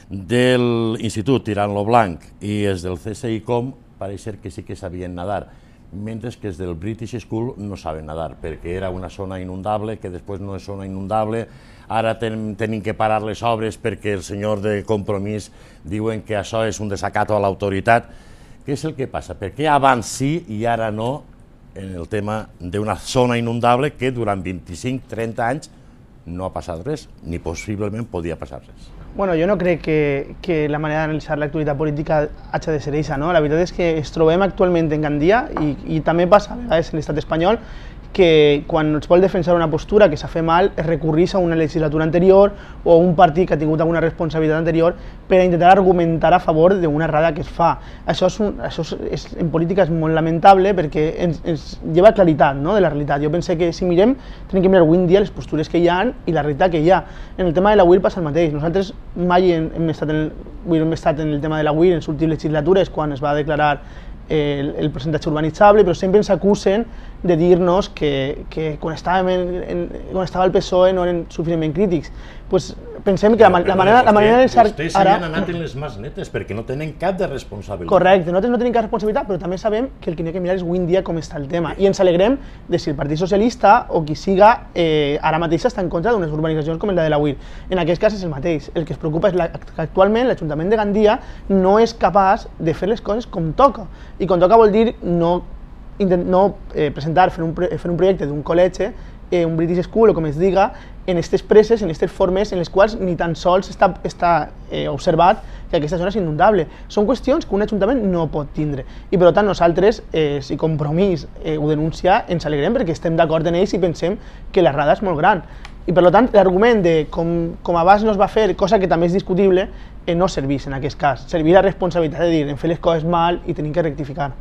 de l'Institut Tirant lo Blanc i els del C S I Com pareix ser que sí que sabien nadar, mentre que els del British School no saben nadar, perquè era una zona inundable, que després no és zona inundable. Ara tenim que parar les obres perquè el senyor de Compromís diuen que això és un desacato a l'autoritat. Què és el que passa? Per què abans sí i ara no en el tema d'una zona inundable que durant vint-i-cinc a trenta anys no ha passat res, ni possiblement podia passar res? Bueno, jo no crec que, que la manera d'analitzar l'actualitat política hagi de ser aquesta, no? La veritat és que es trobem actualment en Gandia i, i també passa a vegades en l'estat espanyol que quan es vol defensar una postura que s'ha fet mal es recurreix a una legislatura anterior o a un partit que ha tingut alguna responsabilitat anterior per a intentar argumentar a favor d'una errada que es fa. Això, és un, això és, en política és molt lamentable perquè ens, ens lleva claritat, no?, de la realitat. Jo penso que si mirem, tenim que mirar avui en dia les postures que hi ha i la realitat que hi ha. En el tema de la U I R passa el mateix. Nosaltres mai hem, hem, estat, en el, hem estat en el tema de la U I R en les últimes legislatures quan es va declarar el, el percentatge urbanitzable, però sempre ens acusen de dir-nos que, que quan, estàvem en, en, quan estava el P S O E no eren suficientment crítics. Pues pensem que la, la manera, la manera de ser... Vostès ara... s'han anat en les mans netes perquè no tenen cap de responsabilitat. Correcte, nosaltres no tenim cap responsabilitat, però també sabem que el que hem de mirar és avui en dia com està el tema. I ens alegrem de si el Partit Socialista o qui siga eh, ara mateix està en contra d'unes urbanitzacions com la de la U I R. En aquest cas és el mateix. El que es preocupa és la, que actualment l'Ajuntament de Gandia no és capaç de fer les coses com toca. I com toca vol dir no, no eh, presentar, fer un, fer un projecte d'un col·legi, eh, un British School o com es diga, en aquestes presses, en aquestes formes en les quals ni tan sols està, està eh, observat que aquesta zona és inundable. Són qüestions que un ajuntament no pot tindre i per tant nosaltres, eh, si Compromís eh, ho denuncia, ens alegrem perquè estem d'acord en ells i pensem que l'errada és molt gran. I per tant l'argument de com, com abans no es va fer, cosa que també és discutible, eh, no serveix en aquest cas. Servir la responsabilitat de dir hem fet les coses mal i tenim que rectificar.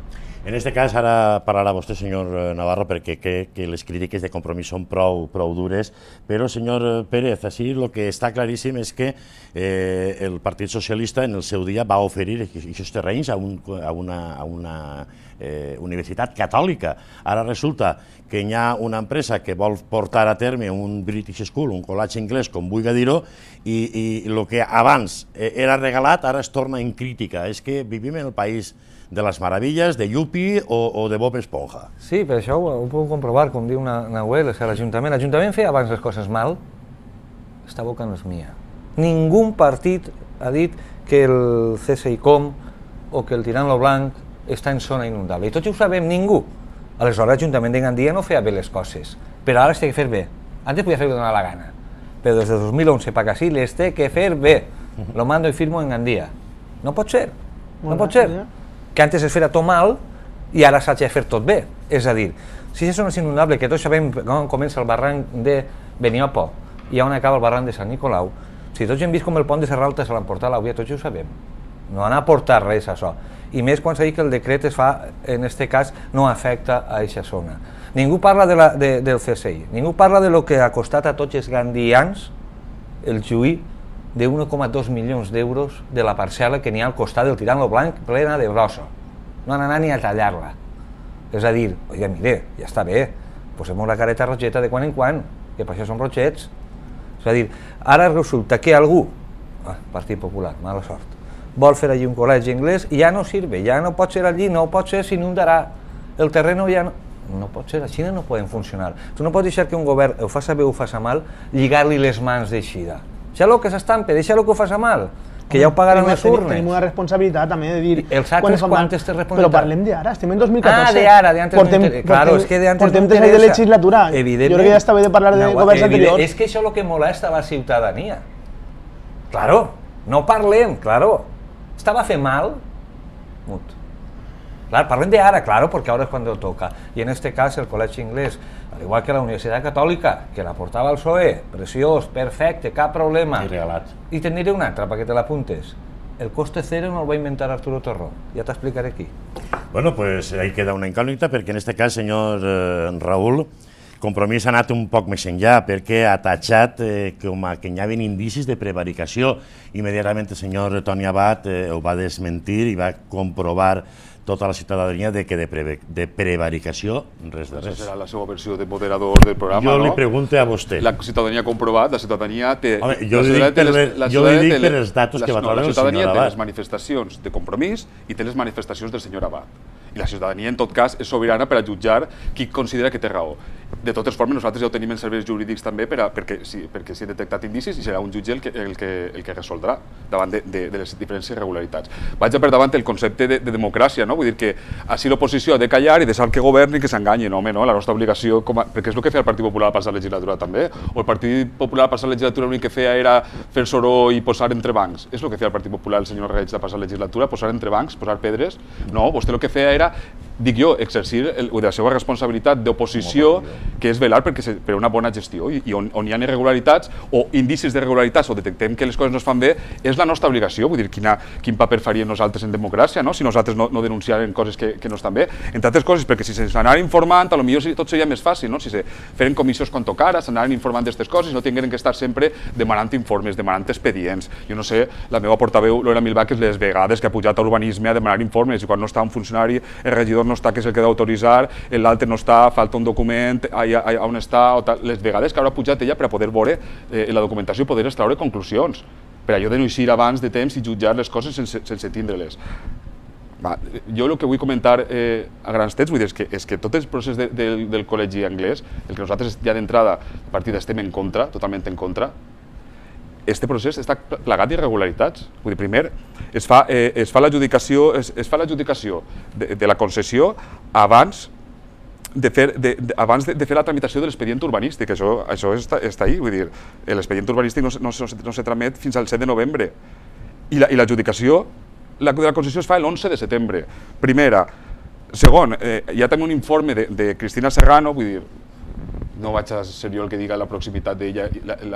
En aquest cas, ara parlarà vostè, senyor Navarro, perquè crec que les crítiques de Compromís són prou, prou dures, però, senyor Pérez, així el que està claríssim és que eh, el Partit Socialista en el seu dia va oferir aquests terrenys a, un, a una, a una eh, universitat catòlica. Ara resulta que hi ha una empresa que vol portar a terme un British School, un col·legi anglès, com vulgui dir-ho, i, i el que abans era regalat ara es torna en crítica. És que vivim en el país de les meravilles, de Yupi o, o de Bob Esponja. Sí, per això ho, ho puc comprovar, com diu Nahuel, l'Ajuntament. L'Ajuntament feia abans les coses mal, esta boca no és mia. Ningú partit ha dit que el C S I Com o que el Tirant lo Blanc està en zona inundable. I tots ho sabem, ningú. Aleshores l'Ajuntament de Gandia no feia bé les coses, però ara les té que fer bé. Antes podia fer-ho donar la gana, però des de dos mil onze per aquí les té que fer bé. Lo mando i firmo en Gandia. No pot ser, no pot ser. Que antes es feia tot mal i ara s'ha de fer tot bé. És a dir, si és una zona inundable, que tots sabem com comença el barranc de Beniopo i on acaba el barranc de Sant Nicolau, si tots hem vist com el pont de Serralta se l'han portat a l'Auia, tots ho sabem. No han aportat res a això. I més quan s'ha dit que el decret es fa, en aquest cas, no afecta a aquesta zona. Ningú parla de la, de, del C S I, ningú parla de lo que ha costat a tots els gandians el lluir de un coma dos milions d'euros de la parcel·la que n'hi ha al costat del Tirant lo Blanc plena de brossa. No han anat ni a tallar-la. És a dir, oiga, mire, ja està bé, posem la careta rotxeta de quan en quan, que per això són rotxets. És a dir, ara resulta que algú, ah, Partit Popular, mala sort, vol fer allí un col·legi anglès i ja no sirve, ja no pot ser allí, no pot ser, s'inundarà, el terreno ja no... No pot ser, a Xina no poden funcionar. Tu no pots deixar que un govern ho faci bé o ho faci mal, lligar-li les mans d'eixida. Deixa-lo que s'estampe, deixa-lo que ho faci mal, que ja ho pagaran les urnes. Tenim una responsabilitat també de dir... Els altres quantes té responsabilitat? Però parlem d'ara, estem en dos mil catorze. Ah, d'ara, d'antes no interessa. Claro, és que d'antes no interessa. Portem tres anys de legislatura. Jo crec que ja està bé de parlar de governs anteriors. És que això és el que molesta a la ciutadania. Claro, no parlem, claro. Estava fent mal, Mut. Claro, parlen de ahora, claro, porque ahora es cuando toca. Y en este caso el Colegio Inglés, al igual que la Universidad Católica, que la portava el P S O E, preciós, perfecte, cap problema. I regalat. I te'n diré una altra, perquè te l'apuntes. El coste cero no el va inventar Arturo Torró, ja t'explicaré aquí. Bueno, pues ahí queda una incògnita, perquè en este cas, senyor eh, Raül, Compromís ha anat un poc més enllà, perquè ha tatxat eh, com a que hi havia indicis de prevaricació. Immediatament el senyor Toni Abad eh, ho va desmentir i va comprovar tota la ciutadania de que de, pre de prevaricació res de res. Aquesta serà la seva versió de moderador del programa, jo no? Jo li pregunto a vostè. La ciutadania ha comprovat, la ciutadania té... Home, jo li dic per, les, jo li dic per els datos que va treure el senyor Abad. La ciutadania té les manifestacions de Compromís i té les manifestacions del senyor Abad. I la ciutadania, en tot cas, és sobirana per a jutjar qui considera que té raó. De totes formes, nosaltres ja ho tenim en serveis jurídics també per a, perquè s'hi perquè si detectat indicis i serà un jutge el que, el que, el que resoldrà davant de, de, de les diferents irregularitats. Vaig a per davant el concepte de, de democràcia, no? Vull dir que així l'oposició ha de callar i deixar que governi i que s'enganyin, home, no? La nostra obligació, com a, perquè és el que feia el Partit Popular a passar la legislatura també, o el Partit Popular a passar la legislatura l'únic que feia era fer soró i posar entre bancs. És el que feia el Partit Popular, el senyor Reig, de passar la legislatura, posar entre bancs, posar pedres. No, vostè el que feia era, dic jo, exercir el, la seva responsabilitat d'oposició, que és velar perquè se, per una bona gestió, i, i on, on hi ha irregularitats o indicis d'irregularitats o detectem que les coses no es fan bé, és la nostra obligació. Vull dir, quina, quin paper faríem nosaltres en democràcia, no? Si nosaltres no, no denunciarem coses que, que no estan bé. Entre altres coses, perquè si s'anaren informant, potser tot seria més fàcil, no? Si se feren comissions quan tocara, s'anaren informant d'aquestes coses, no tingueren que estar sempre demanant informes, demanant expedients. Jo no sé, la meva portaveu, Lola Milbach, les vegades que ha pujat a urbanisme a demanar informes, i quan no està un funcionari, el regidor no està, que és el que ha d'autoritzar, l'altre no està, falta un document, allà on està, o tal. Les vegades que haurà pujat ella per a poder veure eh, la documentació i poder extraure conclusions, per allò de no eixir abans de temps i jutjar les coses sense, sense tindre-les. Jo el que vull comentar eh, a grans trets, vull dir, és que, és que tot el procés de, de, del col·legi anglès, el que nosaltres ja d'entrada a partir estem en contra, totalment en contra, este procés està plagat d'irregularitats. Vull dir, primer, es fa, eh, es fa l'adjudicació es, es fa l'adjudicació de, de la concessió abans de fer, de, de, abans de, de fer la tramitació de l'expedient urbanístic. Això, això està, està ahí, vull dir, l'expedient urbanístic no, no, no, no se tramet fins al set de novembre. I l'adjudicació la, de la concessió es fa l'onze de setembre. Primera. Segon, eh, hi ha també un informe de, de Cristina Serrano, vull dir, no vaig a ser jo el que diga la proximitat d'ella,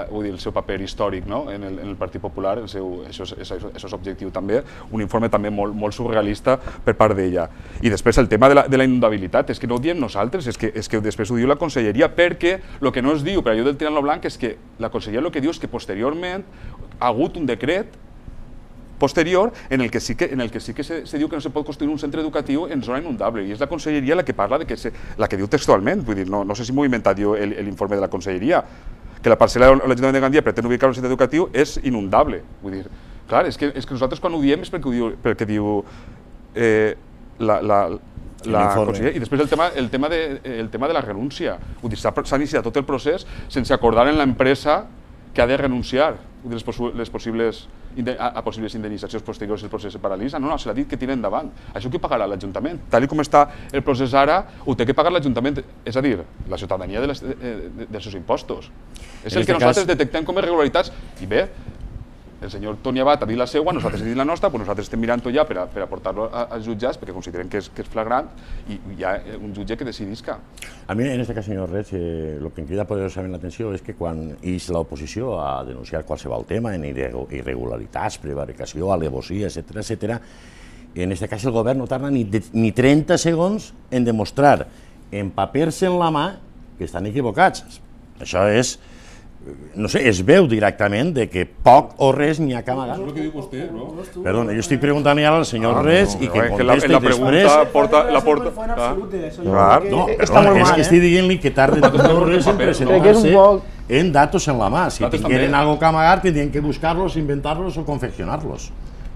vull dir, el seu paper històric, no? en, el, en el Partit Popular, el seu, això, és, això és objectiu també, un informe també molt, molt surrealista per part d'ella. I després el tema de la, de la inundabilitat, és que no ho diem nosaltres, és que, és que després ho diu la Conselleria, perquè el que no es diu per allò del tirant-lo blanc és que la Conselleria el que diu és que posteriorment ha hagut un decret posterior en el que sí que, en el que, sí que se, se diu que no se pot construir un centre educatiu en zona inundable, i és la Conselleria la que parla, de que se, la que diu textualment, vull dir, no, no sé si m'ho he inventat jo l'informe de la Conselleria, que la parcel·la de l'Ajuntament de Gandia pretén ubicar un centre educatiu és inundable. Vull dir, clar, és que, és que nosaltres quan ho diem és perquè ho diu, perquè diu eh, la, la, la Conselleria. I després el tema, el tema, de, el tema de la renúncia. Vull dir, s'ha iniciat tot el procés sense acordar en l'empresa que ha de renunciar les, possi les possibles, a, a possibles indemnitzacions posteriors si el procés se paralitza. No, no, se l'ha dit que tira endavant. Això qui pagarà? L'Ajuntament. Tal com està el procés ara, ho té que pagar l'Ajuntament, és a dir, la ciutadania de les, de, de, dels seus impostos. És el que nosaltres detectem com a irregularitats. I bé, el senyor Toni Abad ha dit la seva, nosaltres hem dit la nostra, però nosaltres estem mirant-ho ja per a, per a portar-lo als jutjats, perquè considerem que és, que és flagrant, i hi ha un jutge que decidisca. A mi, en aquest cas, senyor Reig, eh, el que em crida poderosament l'atenció és que quan ix l'oposició a denunciar qualsevol tema en irregularitats, prevaricació, alevosia, etcètera, etcètera, en aquest cas el govern no tarda ni, ni trenta segons en demostrar en papers en la mà que estan equivocats. Això és... no sé, es veu directament de que poc o res n'hi ha que amagar. És el que diu vostè, no? Perdona, jo estic preguntant ara al senyor Reig i que contesti la pregunta porta... La porta... No, perdona, és que estic dient-li que tarden tot res en presentar-se en datos en la mà. Si tingueren algo que amagar, tindrien que buscar-los, inventar-los o confeccionar-los.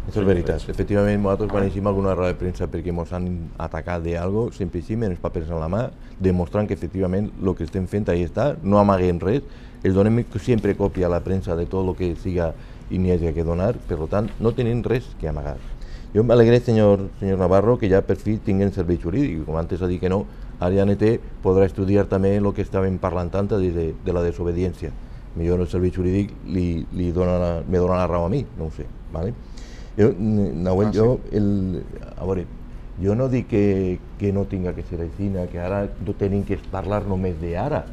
Això és veritat. Efectivament, nosaltres quan llegim alguna roda de premsa perquè ens han atacat d'algo, sempre llegim els papers en la mà, demostrant que efectivament el que estem fent ahí està, no amaguem res, els donem sempre còpia a la premsa de tot el que siga i n'hi hagi que donar, per tant, no tenim res que amagar. Jo m'alegré, senyor, senyor Navarro, que ja per fi tinguin servei jurídic, com antes ha dit que no, ara ja N T podrà estudiar també el que estàvem parlant tant de, de la desobediència. Millor el servei jurídic li, li dona, me dona la raó a mi, no ho sé. ¿Vale? Jo, Nahuel, ah, jo, sí. el, a veure, jo no dic que, que no tinga que ser així, que ara no tenim que parlar només d'ara.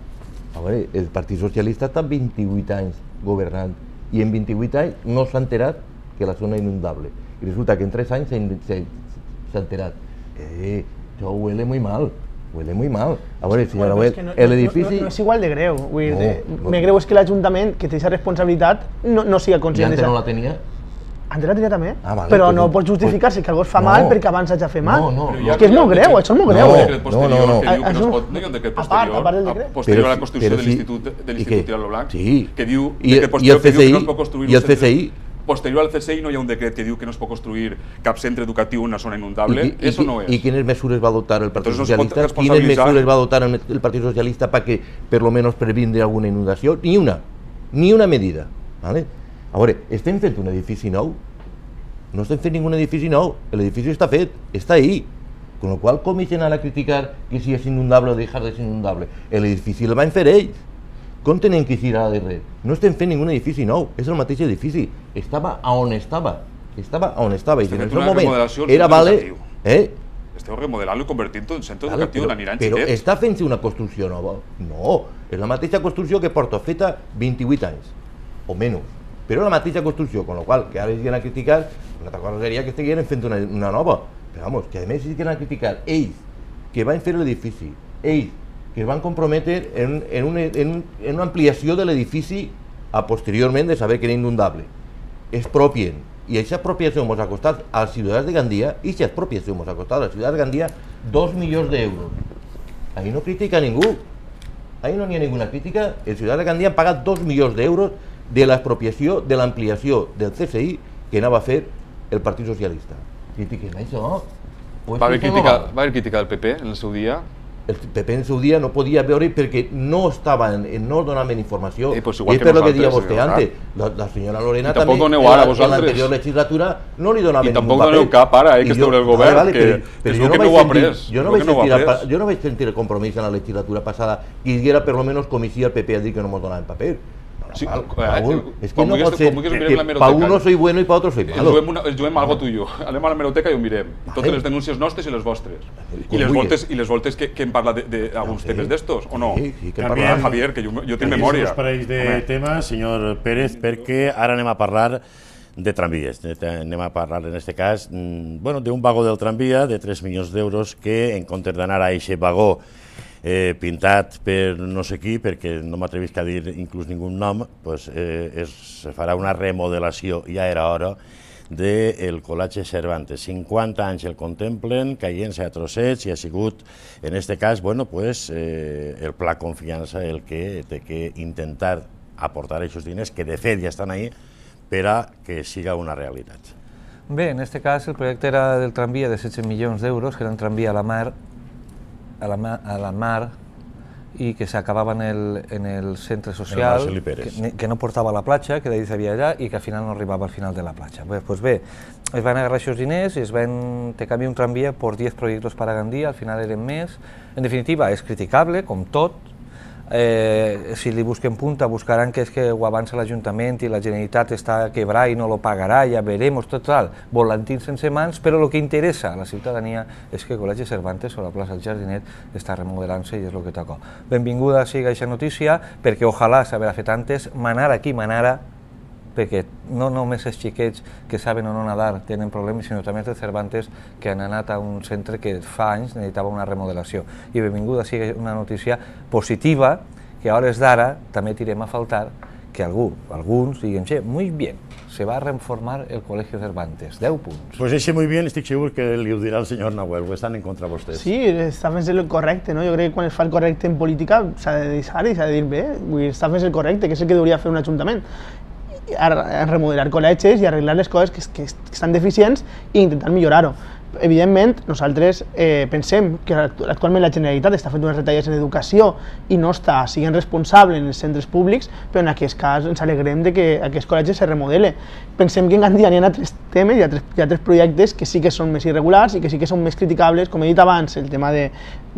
A veure, el Partit Socialista està vint-i-vuit anys governant i en vint-i-vuit anys no s'ha enterat que la zona és inundable. I resulta que en tres anys s'ha enterat. Eh, això huele muy mal. Huele muy mal. A veure, senyora Nahuel, no, el edifici... No, no, no és igual de greu. Vull dir, no, no. Me greu és que l'Ajuntament, que té aquesta responsabilitat, no, no siga conscient. I antes no la tenia? Antes la tenia també, ah, vale, però pues, no pot justificar-se pues, que algú es fa no, mal perquè abans s'hagi fet mal. No, no, és que és molt greu, això és molt greu. No, no, no. Que diu que no es pot, no hi ha un decret posterior, posterior a la construcció de l'Institut de l'Institut Tiralo Blanc, que diu que no es pot construir... I el C C I? Posterior al C C I no hi ha un decret que diu que no es pot construir cap centre educatiu en una zona inundable, això no és. I quines mesures va adoptar el Partit Socialista? Quines mesures va adoptar el Partit Socialista perquè per lo menos previndre alguna inundació? Ni una, ni una medida. ¿Vale? A veure, estem fent un edifici nou? No estem fent ningún edifici nou, l'edifici està fet, està ahí. Con lo qual, com ixen a criticar que si és inundable o deixar de ser inundable? L'edifici el van fer ells. Com tenen que eixir ara de res? No estem fent ningú edifici nou, és el mateix edifici. Estava a on estava. Estava a on estava. I en el seu moment era vale... Eh? Esteu remodelant-lo i convertint-ho en centre educatiu, n'aniran xiquets. Però està fent-se una construcció nova? No, és la mateixa construcció que porta feta vint-i-vuit anys, o menys. Però la mateixa construcció, con lo qual, que ara es a criticar, una altra cosa seria que estiguin fent una, una nova. Però, vamos, que a més es a criticar ells, que van fer l'edifici, ells, que es van comprometre en, en, una, en, en una ampliació de l'edifici a posteriorment de saber que era inundable. Expropien. I aquesta expropiació ens ha costat als ciutadans de Gandia, i aquesta expropiació ens ha costat als ciutadans de Gandia dos milions d'euros. Ahí no critica ningú. Ahí no n'hi ha ninguna crítica. Els ciutadans de Gandia han pagat dos milions d'euros de l'expropiació, de l'ampliació del C C I que anava a fer el Partit Socialista. Critiquen això. Va haver crítica, va haver crítica del P P en el seu dia? El P P en el seu dia no podia veure perquè no estaven, no donaven informació. Eh, pues I és per lo que deia vostè antes. La, la senyora Lorena també, en l'anterior legislatura, no li donaven ningú paper. I tampoc doneu cap ara, eh, que esteu en el govern, vale, vale, que però, és però el que no ho ha pres. Jo no, no, no, jo no vaig sentir el compromís en la legislatura passada que hi era per lo menos com hi el P P a dir que no ens donaven paper. Sí, Paul, eh, Paul, es que no pot ser que, que, que pa uno soy bueno y pa otro soy malo. El juguem, una, el juguem algo tuyo. Anem a la hemeroteca i ho mirem. Totes les denúncies nostres i les vostres. I les voltes, i les voltes que, que hem parlat d'alguns temes d'estos, o no? Sí, sí, que hem parlat. Javier, que jo, jo tinc memòria. Canviem parells de temes, senyor Pérez, perquè ara anem a parlar de tramvies. Anem a parlar, en aquest cas, bueno, d'un vagó del tramvia de tres milions d'euros que, en comptes d'anar a aquest vagó Eh, pintat per no sé qui, perquè no m'atrevisc a dir inclús ningú nom, pues, eh, es, se farà una remodelació, ja era hora, del Col·legi Cervantes. cinquanta anys el contemplen, caient-se a trossets, i ha sigut, en aquest cas, bueno, pues, eh, el Pla Confiança el que té que intentar aportar aquests diners, que de fet ja estan ahí, per a que siga una realitat. Bé, en aquest cas el projecte era del tramvia de setze milions d'euros, que era un tramvia a la mar, a la, ma a la mar i que s'acabava en, el, en el centre social, que, que no portava a la platja, que d'ahir s'havia allà i que al final no arribava al final de la platja. Bé, pues bé, es van agarrar aquests diners i es van te canviar un tramvia por diez proyectos para Gandía, al final eren més. En definitiva, és criticable, com tot. Eh, si li busquen punta, buscaran que és que ho avança l'Ajuntament i la Generalitat està a quebrar i no lo pagarà, ja veremos, tot tal, volantín sense mans, però el que interessa a la ciutadania és que el Col·legi Cervantes o la plaça del Jardinet està remodelant-se i és el que toca. Benvinguda sigui aquesta notícia, perquè ojalà s'haverà fet antes, manar aquí, manara, perquè no només els xiquets que saben o no nadar tenen problemes, sinó també els Cervantes que han anat a un centre que fa anys necessitava una remodelació. I benvinguda sigui una notícia positiva, que a hores d'ara també tirem a faltar que algú, alguns diguen, che, muy bien, se va a reformar el Colegio Cervantes, deu punts. Pues ese muy bien, estic segur que li ho dirà el senyor Nahuel, ho estan en contra vostès. Sí, està fent el correcte, no? Jo crec que quan es fa el correcte en política s'ha de deixar i s'ha de dir bé, vull dir, està fent el correcte, que és el que hauria fer un ajuntament. A remodelar col·legis i arreglar les coses que, que estan deficients i intentar millorar-ho. Evidentment, nosaltres eh, pensem que actualment la Generalitat està fent unes retallades en educació i no està sent responsable en els centres públics, però en aquest cas ens alegrem de que aquest col·legi se remodele. Pensem que en Gandia hi ha altres temes, hi ha tres, hi ha tres projectes que sí que són més irregulars i que sí que són més criticables, com he dit abans, el tema de,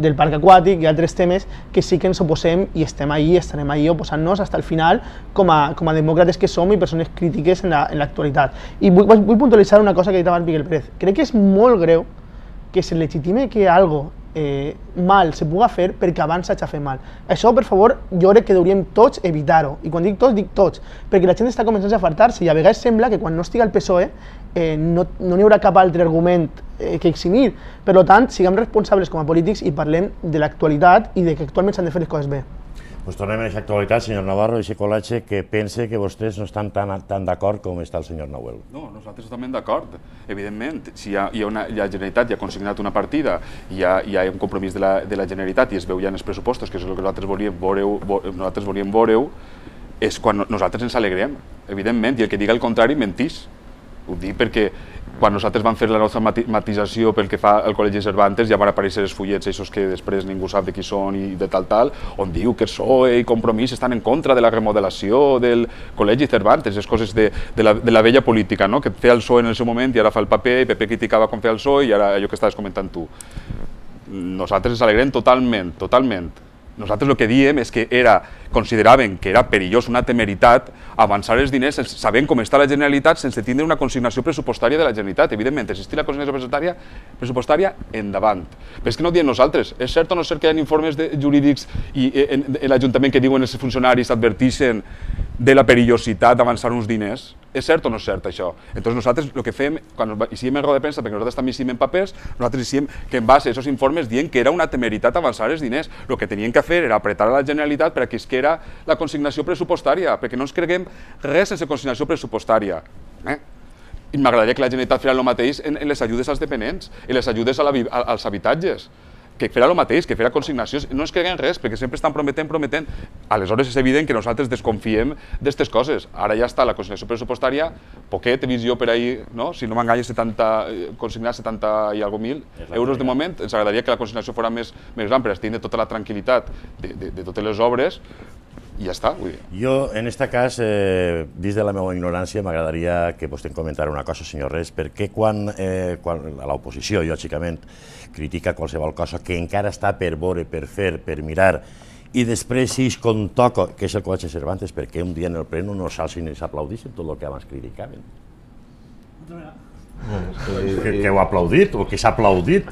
del parc aquàtic, hi ha altres temes que sí que ens oposem i estem ahí, estarem ahí oposant-nos fins al final com a, com a demòcrates que som i persones crítiques en l'actualitat. I vull, vull puntualitzar una cosa que ha dit abans Miguel Pérez. Crec que és molt greu que se legitime que algo eh, mal se puga fer perquè abans s'ha fet mal. Això, per favor, jo crec que hauríem tots evitar-ho. I quan dic tots, dic tots, perquè la gent està començant a fartar-se i a vegades sembla que quan no estigui al P S O E eh, no no hi haurà cap altre argument eh, que eximir. Per tant, siguem responsables com a polítics i parlem de l'actualitat i de que actualment s'han de fer les coses bé. Pues tornem a aquesta actualitat, senyor Navarro, i aquest col·legi que pense que vostès no estan tan, tan d'acord com està el senyor Nahuel. No, nosaltres estem d'acord. Evidentment, si hi ha, hi ha una, la Generalitat ja ha consignat una partida, hi ha, hi ha un compromís de la, de la Generalitat i es veu ja en els pressupostos, que és el que nosaltres volíem veure-ho, nosaltres volíem veure-ho, és quan nosaltres ens alegrem, evidentment, i el que diga el contrari mentís. Ho dic perquè quan nosaltres vam fer la nostra matització pel que fa al Col·legi Cervantes ja van aparèixer els fullets aquests que després ningú sap de qui són i de tal tal, on diu que el P S O E i Compromís estan en contra de la remodelació del Col·legi Cervantes, les coses de, de, la, de la vella política, no? Que feia el P S O E en el seu moment i ara fa el paper, i P P criticava com feia el P S O E i ara allò que estaves comentant tu. Nosaltres ens alegrem totalment, totalment. Nosaltres el que diem és que era, consideraven que era perillós, una temeritat, avançar els diners sabent com està la Generalitat sense tindre una consignació pressupostària de la Generalitat. Evidentment, existir la consignació pressupostària, pressupostària endavant. Però és que no ho diem nosaltres. És cert o no és cert que hi ha informes de, jurídics i en, en l'Ajuntament que diuen els funcionaris adverteixen de la perillositat d'avançar uns diners? És cert o no és cert això? Entonces nosaltres el que fem, quan hicim en roda de premsa, perquè nosaltres també hicim en papers, nosaltres hicim que en base a aquests informes dient que era una temeritat avançar els diners. El que tenien que fer era apretar a la Generalitat perquè es que era la consignació pressupostària, perquè no ens creguem res sense consignació pressupostària. Eh? I m'agradaria que la Generalitat fera el mateix en, en les ajudes als dependents, en les ajudes a la, a, als habitatges, que fera el mateix, que fera consignacions, no ens creguem res, perquè sempre estan prometent, prometent. Aleshores és evident que nosaltres desconfiem d'aquestes coses. Ara ja està la consignació pressupostària, poquet, he vist jo per ahir, no? Si no m'enganya, consignar setanta i algo mil euros de moment. Ens agradaria que la consignació fos més, més gran per tindre tota la tranquil·litat de, de, de totes les obres, i ja està. Vull dir. Jo, en aquest cas, eh, vist de la meva ignorància, m'agradaria que vostè em comentara una cosa, senyor Res, perquè quan, eh, quan l'oposició, lògicament, critica qualsevol cosa que encara està per veure, per fer, per mirar, i després si es contoca, que és el Col·legi Cervantes, perquè un dia en el ple no s'alcin i s'aplaudissin tot el que abans criticaven. Que, que heu aplaudit o que s'ha aplaudit,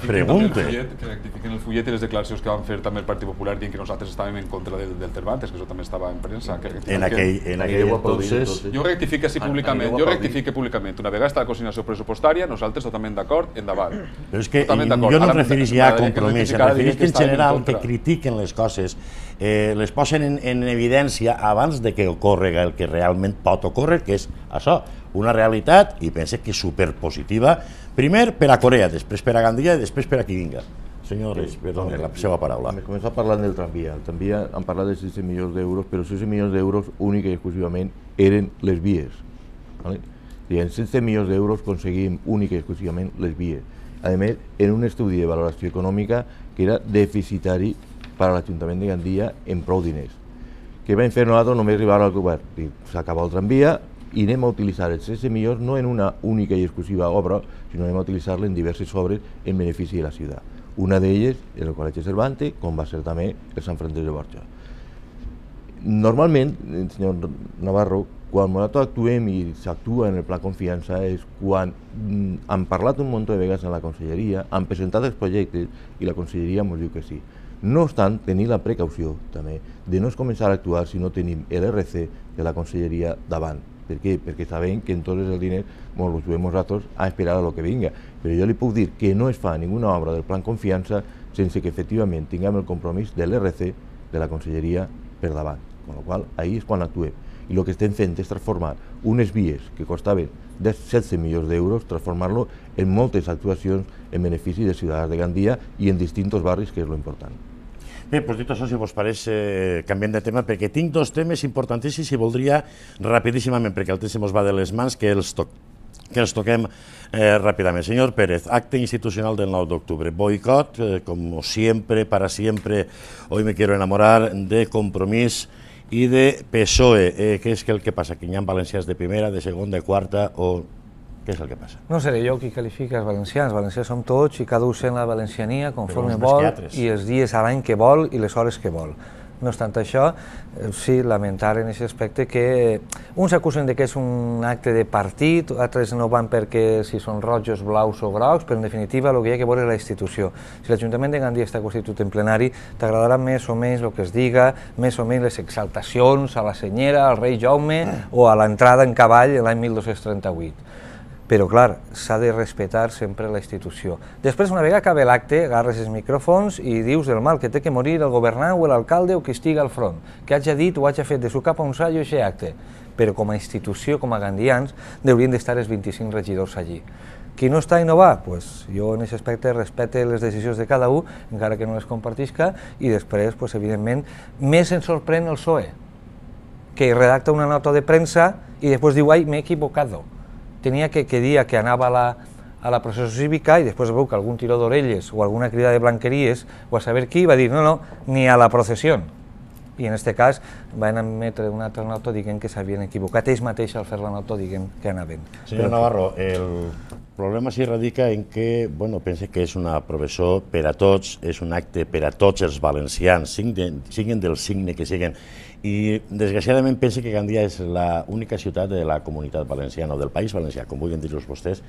pregunte. Que rectifiquen el fullet i les declaracions que van fer també el Partit Popular dient que nosaltres estàvem en contra del, del Cervantes, que això també estava en premsa. En aquell, en aquell entonces... Jo rectifique sí públicament, jo rectifique públicament. Una vegada està la consignació pressupostària, nosaltres totalment d'acord, endavant. Però és que jo no em referís ja a compromís, em referís que en general que critiquen les coses, eh, les posen en, en evidència abans de que ocorrega el que realment pot ocórrer, que és això, una realitat, i pense que és superpositiva, primer per a Corea, després per a Gandia i després per a qui vinga. Senyor Reis, perdoni, la seva paraula. Hem començat parlant del tramvia. El tramvia han parlat de setze milions d'euros, però setze milions d'euros únic i exclusivament eren les vies. ¿Vale? I en setze milions d'euros aconseguim únic i exclusivament les vies. A més, en un estudi de valoració econòmica que era deficitari per a l'Ajuntament de Gandia en prou diners. Què vam fer nosaltres només arribar al govern? S'acaba el tramvia, i anem a utilitzar els setze milions no en una única i exclusiva obra, sinó anem a utilitzar-la en diverses obres en benefici de la ciutat. Una d'elles és el Col·legi Cervantes, com va ser també el Sant Francesc de Borja. Normalment, senyor Navarro, quan nosaltres actuem i s'actua en el pla confiança és quan han parlat un munt de vegades en la conselleria, han presentat els projectes i la conselleria ens diu que sí. No obstant, tenir la precaució també de no es començar a actuar si no tenim l'R C de la conselleria davant. Per què? Perquè sabem que en tots els diners ens els juguem nosaltres a esperar a lo que vinga. Però jo li puc dir que no es fa ninguna obra del plan confiança sense que efectivament tinguem el compromís de l'R C de la conselleria per davant. Con la qual ahí és quan actuem. I el que estem fent és transformar unes vies que costaven setze milions d'euros, transformar-lo en moltes actuacions en benefici de ciutadans de Gandia i en distints barris, que és lo important. Bé, doncs dit això, si vos pareix, eh, canviem de tema, perquè tinc dos temes importantíssims i voldria rapidíssimament, perquè el temps se mos va de les mans, que els, to que els toquem eh, ràpidament. Senyor Pérez, acte institucional del nou d'octubre. Boicot, eh, como siempre, para siempre, hoy me quiero enamorar, de Compromís i de P S O E. Eh, què és el que passa? Que hi ha valencians de primera, de segona, de quarta, o què és el que passa? No seré jo qui qualifica els valencians. Valencians som tots i cada un sent la valenciania conforme vol i els dies a l'any que vol i les hores que vol. No obstant això, sí, lamentar en aquest aspecte que uns acusen que és un acte de partit, altres no van perquè si són rojos, blaus o grocs, però en definitiva el que hi ha que veure és la institució. Si l'Ajuntament de Gandia està constituït en plenari, t'agradarà més o menys el que es diga, més o menys les exaltacions a la senyera, al rei Jaume o a l'entrada en cavall l'any mil dos-cents trenta-vuit. Però, clar, s'ha de respectar sempre la institució. Després, una vegada acaba l'acte, agarres els micròfons i dius del mal que té que morir el governant o l'alcalde o qui estigui al front, que hagi dit o hagi fet de su cap a un sallo aquest acte. Però com a institució, com a gandians, haurien d'estar els vint-i-cinc regidors allí. Qui no està i no va? Pues jo en aquest aspecte respecte les decisions de cada un, encara que no les compartisca, i després, pues, evidentment, més ens sorprèn el P S O E, que redacta una nota de premsa i després diu, ai, m'he equivocado. Tenia que, que dir que anava a la, a la processió cívica i després veu que algun tiró d'orelles o alguna crida de blanqueries o a saber qui va dir no, no, ni a la processió. I en aquest cas van emetre una altra nota dient que s'havien equivocat. Ells mateixos al fer la nota dient que anaven. Senyor Navarro, el problema s'hi radica en que, bueno, pense que és una professó per a tots, és un acte per a tots els valencians, siguin del signe que siguin. I desgraciadament pense que Gandia és l'única ciutat de la comunitat valenciana o del País Valencià, com vulguin dir-los vostès,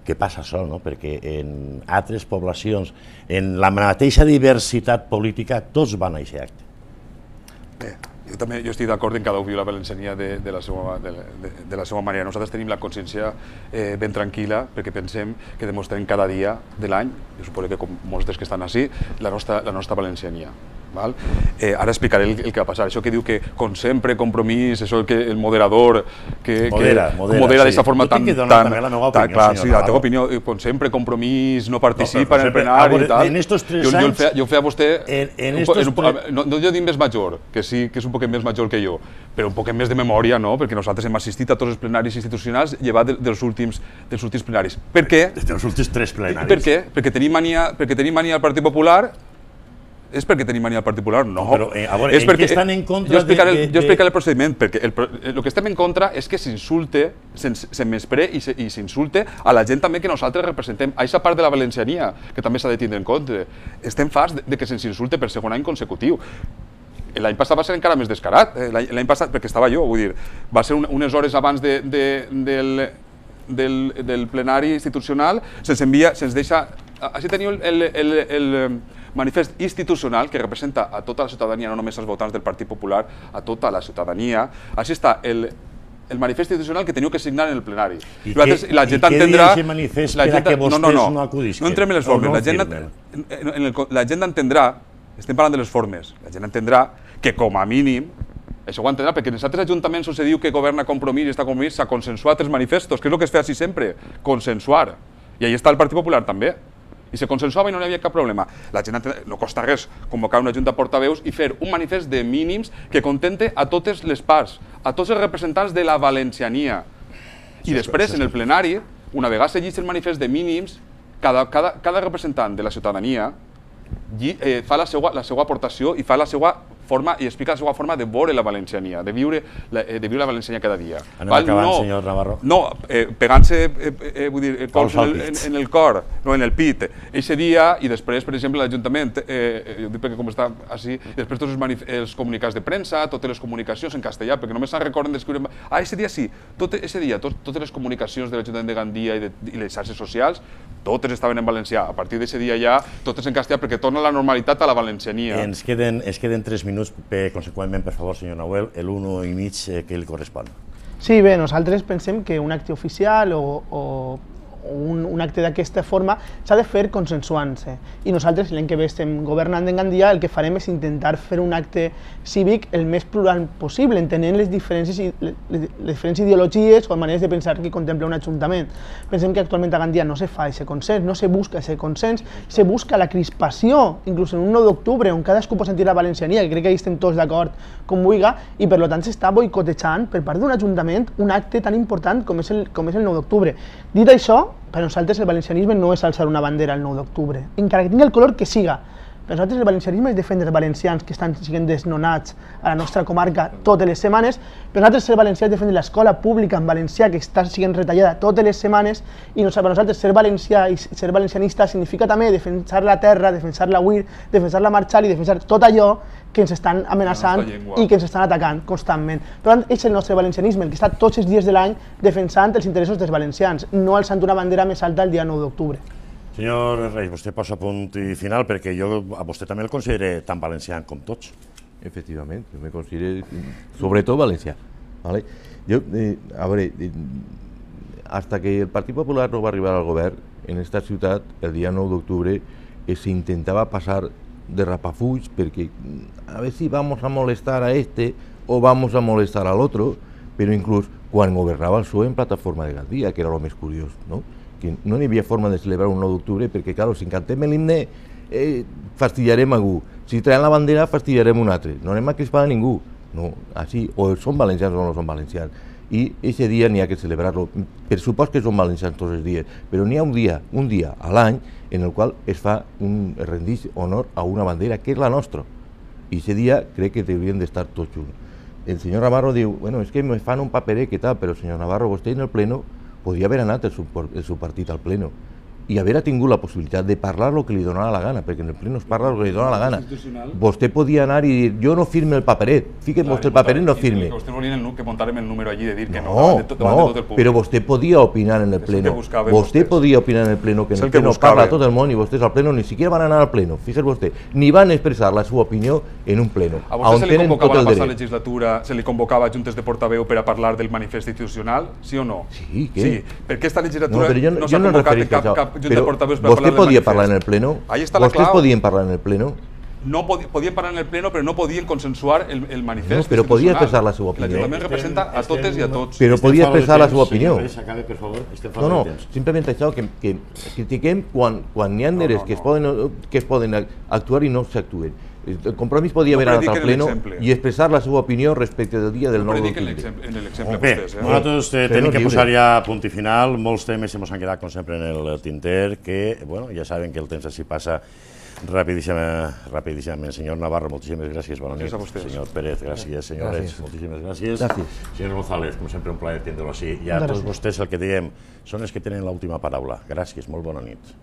que passa sol, no? Perquè en altres poblacions, en la mateixa diversitat política, tots van a aquest acte. Bé, jo també jo estic d'acord en cada un viu la valenciania de, de, la seva, de, de, de la seva manera. Nosaltres tenim la consciència eh, ben tranquil·la perquè pensem que demostrem cada dia de l'any, jo suposo que com molts dels que estan així, la nostra, la nostra valenciania. Val? Eh, ara explicaré el, el que va passar. Això que diu que, com sempre, Compromís, això que el moderador, que modera, que, modera, modera sí. d'aquesta forma tan... Jo tinc que donar també la meva opinió, clar, senyor sí, la teva Navarro. opinió, com sempre, Compromís no participa No, però en el sempre, plenari veure, i tal. en estos tres jo, jo, el anys, feia, jo feia a vostè... en, en un, estos en un, tres... no, no jo dic més major, que sí que és un poquet més major que jo, però un poquet més de memòria, no? Perquè nosaltres hem assistit a tots els plenaris institucionals llevat de, dels, últims, dels últims plenaris. Per què? Dels últims tres plenaris. Per què? Perquè tenim mania, perquè tenim mania al Partit Popular. És perquè tenim mania al Partit Popular? No. Però, eh, a veure, és en perquè, què estan en contra jo explicaré, de, de, jo explicaré el procediment, perquè el, el que estem en contra és que s'insulte, se menyspree i s'insulte a la gent també que nosaltres representem, a aquesta part de la valenciania, que també s'ha de tindre en compte. Estem farts de, de que se'ns insulte per segon any consecutiu. L'any passat va ser encara més descarat, l'any passat, perquè estava jo, vull dir, va ser un, unes hores abans de, de, del, del, del plenari institucional, se'ns envia, se'ns deixa... Així teniu el, el, el, el manifest institucional que representa a tota la ciutadania, no només als votants del Partit Popular, a tota la ciutadania. Així està el, el manifest institucional que teniu que signar en el plenari. I, I, que, la gent i què entendrà, diu aquest manifest per a que vostès no, no, no, no acudisquen? No entrem en les formes. No la, gent, en, en el, la gent entendrà, estem parlant de les formes, la gent entendrà que com a mínim, això ho entendrà, perquè en els altres ajuntaments on se diu que governa Compromís i està Compromís s'ha consensuat els manifestos, que és el que es fa així sempre, consensuar. I ahí està el Partit Popular també. I se consensuava i no hi havia cap problema. La gent no costa res convocar una junta de portaveus i fer un manifest de mínims que contente a totes les parts, a tots els representants de la valenciania. I després, en el plenari, una vegada se llegeix el manifest de mínims, cada, cada, cada representant de la ciutadania eh, fa la seva, la seva aportació i fa la seva forma i explica la seva forma de veure la valenciania, de viure la, de viure la valenciania cada dia. Anem Val? acabant, no, senyor Navarro. No, eh, pegant-se eh, eh, vull dir, cols en, el, en, en el cor, no, en el pit. Eixe dia, i després, per exemple, l'Ajuntament, eh, jo dic perquè com està així, després tots els, els comunicats de premsa, totes les comunicacions en castellà, perquè només se'n recorden d'escriure... Ah, eixe dia sí, tot eixe dia, tot, totes les comunicacions de l'Ajuntament de Gandia i, de, i les xarxes socials, totes estaven en valencià. A partir d'eixe dia ja, totes en castellà, perquè torna la normalitat a la valenciania. Ens queden, ens queden tres minuts, per, conseqüentment, per favor, senyor Nahuel, l'uno i mig que li correspon. Sí, bé, nosaltres pensem que un acte oficial o, o, un, un acte d'aquesta forma s'ha de fer consensuant-se. I nosaltres, l'any que ve estem governant en Gandia, el que farem és intentar fer un acte cívic el més plural possible, entenent les diferents, les, les diferents ideologies o maneres de pensar que contempla un ajuntament. Pensem que actualment a Gandia no se fa aquest consens, no se busca aquest consens, se busca la crispació, inclús en un nou d'octubre, on cadascú pot sentir la valenciania, que crec que hi estem tots d'acord com vulga, i per tant s'està boicotejant per part d'un ajuntament un acte tan important com és el, com és el nou d'octubre. Dit això, per nosaltres el valencianisme no és alçar una bandera el nou d'octubre, encara que tingui el color que siga. Per nosaltres el valencianisme és defendre els valencians que estan sent desnonats a la nostra comarca totes les setmanes. Per nosaltres ser valencià és defendre l'escola pública en valencià que està sent retallada totes les setmanes, i per nosaltres ser valencià i ser valencianista significa també defensar la terra, defensar la U I R, defensar la Marchal i defensar tot allò que ens estan amenaçant i que ens estan atacant constantment. Per tant, és el nostre valencianisme, el que està tots els dies de l'any defensant els interessos dels valencians, no alçant una bandera més alta el dia nou d'octubre. Senyor Reis, vostè posa punt i final perquè jo a vostè també el considero tan valencià com tots. Efectivament, jo me considero sobretot valencià. ¿vale? Jo, eh, a veure, eh, hasta que el Partit Popular no va arribar al govern, en esta ciutat, el dia nou d'octubre, eh, s'intentava passar de rapafuig perquè a ver si vamos a molestar a este o vamos a molestar al otro, però inclús quan governava el P S O E en plataforma de Gandia, que era el més curiós, no? que no hi havia forma de celebrar un nou d'octubre perquè, clar, si cantem l'himne eh, fastidiarem a algú, si traiem la bandera fastidiarem un altre, no anem a crispar a ningú, no, així, o són valencians o no són valencians, i aquest dia n'hi ha que celebrar-lo, per supost que són valencians tots els dies, però n'hi ha un dia, un dia a l'any en el qual es fa un rendix honor a una bandera que és la nostra, i aquest dia crec que haurien d'estar tots junts. El senyor Navarro diu, bueno, és que me fan un paperet que tal, però senyor Navarro, vostè en el pleno podia haver anat el seu, el seu partit al pleno i haver tingut la possibilitat de parlar el que li donava la gana, perquè en el pleno es parla el que li dona la gana. Vostè podia anar i dir, jo no firme el paperet, fiquem vostè el paperet no firme. Vostè volien que muntàrem el número allí de dir que no, no, no, però vostè podia opinar en el pleno, vostè podia opinar en el pleno, que en el pleno parla tot el món i vostès al pleno ni siquiera van anar al pleno, fíjese vostè, ni van expressar la seva opinió en un pleno. A vostè se li convocava la passada legislatura, se li convocava a juntes de portaveu per a parlar del manifest institucional, sí o no? Sí, què? Sí, perquè aquesta legislatura no s'ha convocat cap, cap junta de portaveus per vostè podia parlar en el pleno? Vostès podien parlar en el pleno? No podien parlar en el pleno, però no podien consensuar el, el manifest. No, però podia expressar la seva opinió. L'Ajuntament representa a totes i a tots. Però podia expressar la seva opinió. No, no, simplement això, que, que critiquem quan, quan n'hi ha neres no, no, no. que, es poden, que es poden actuar i no s'actuen. El Compromís podia haver anat al pleno i expressar la seva opinió respecte del dia del nou d'octubre. En l'exemple Bé, vostès. nosaltres tenim que posar ja punt i final. Molts temes se ens han quedat, com sempre, en el tinter, que, bueno, ja saben que el temps així passa rapidíssimament. rapidíssimament. Senyor Navarro, moltíssimes gràcies. Bona nit. Senyor Pérez, gràcies. Senyor Reig, moltíssimes gràcies. Senyor González, com sempre, un plaer tindre-lo així. I a tots vostès el que diem són els que tenen l'última paraula. Gràcies, molt bona nit.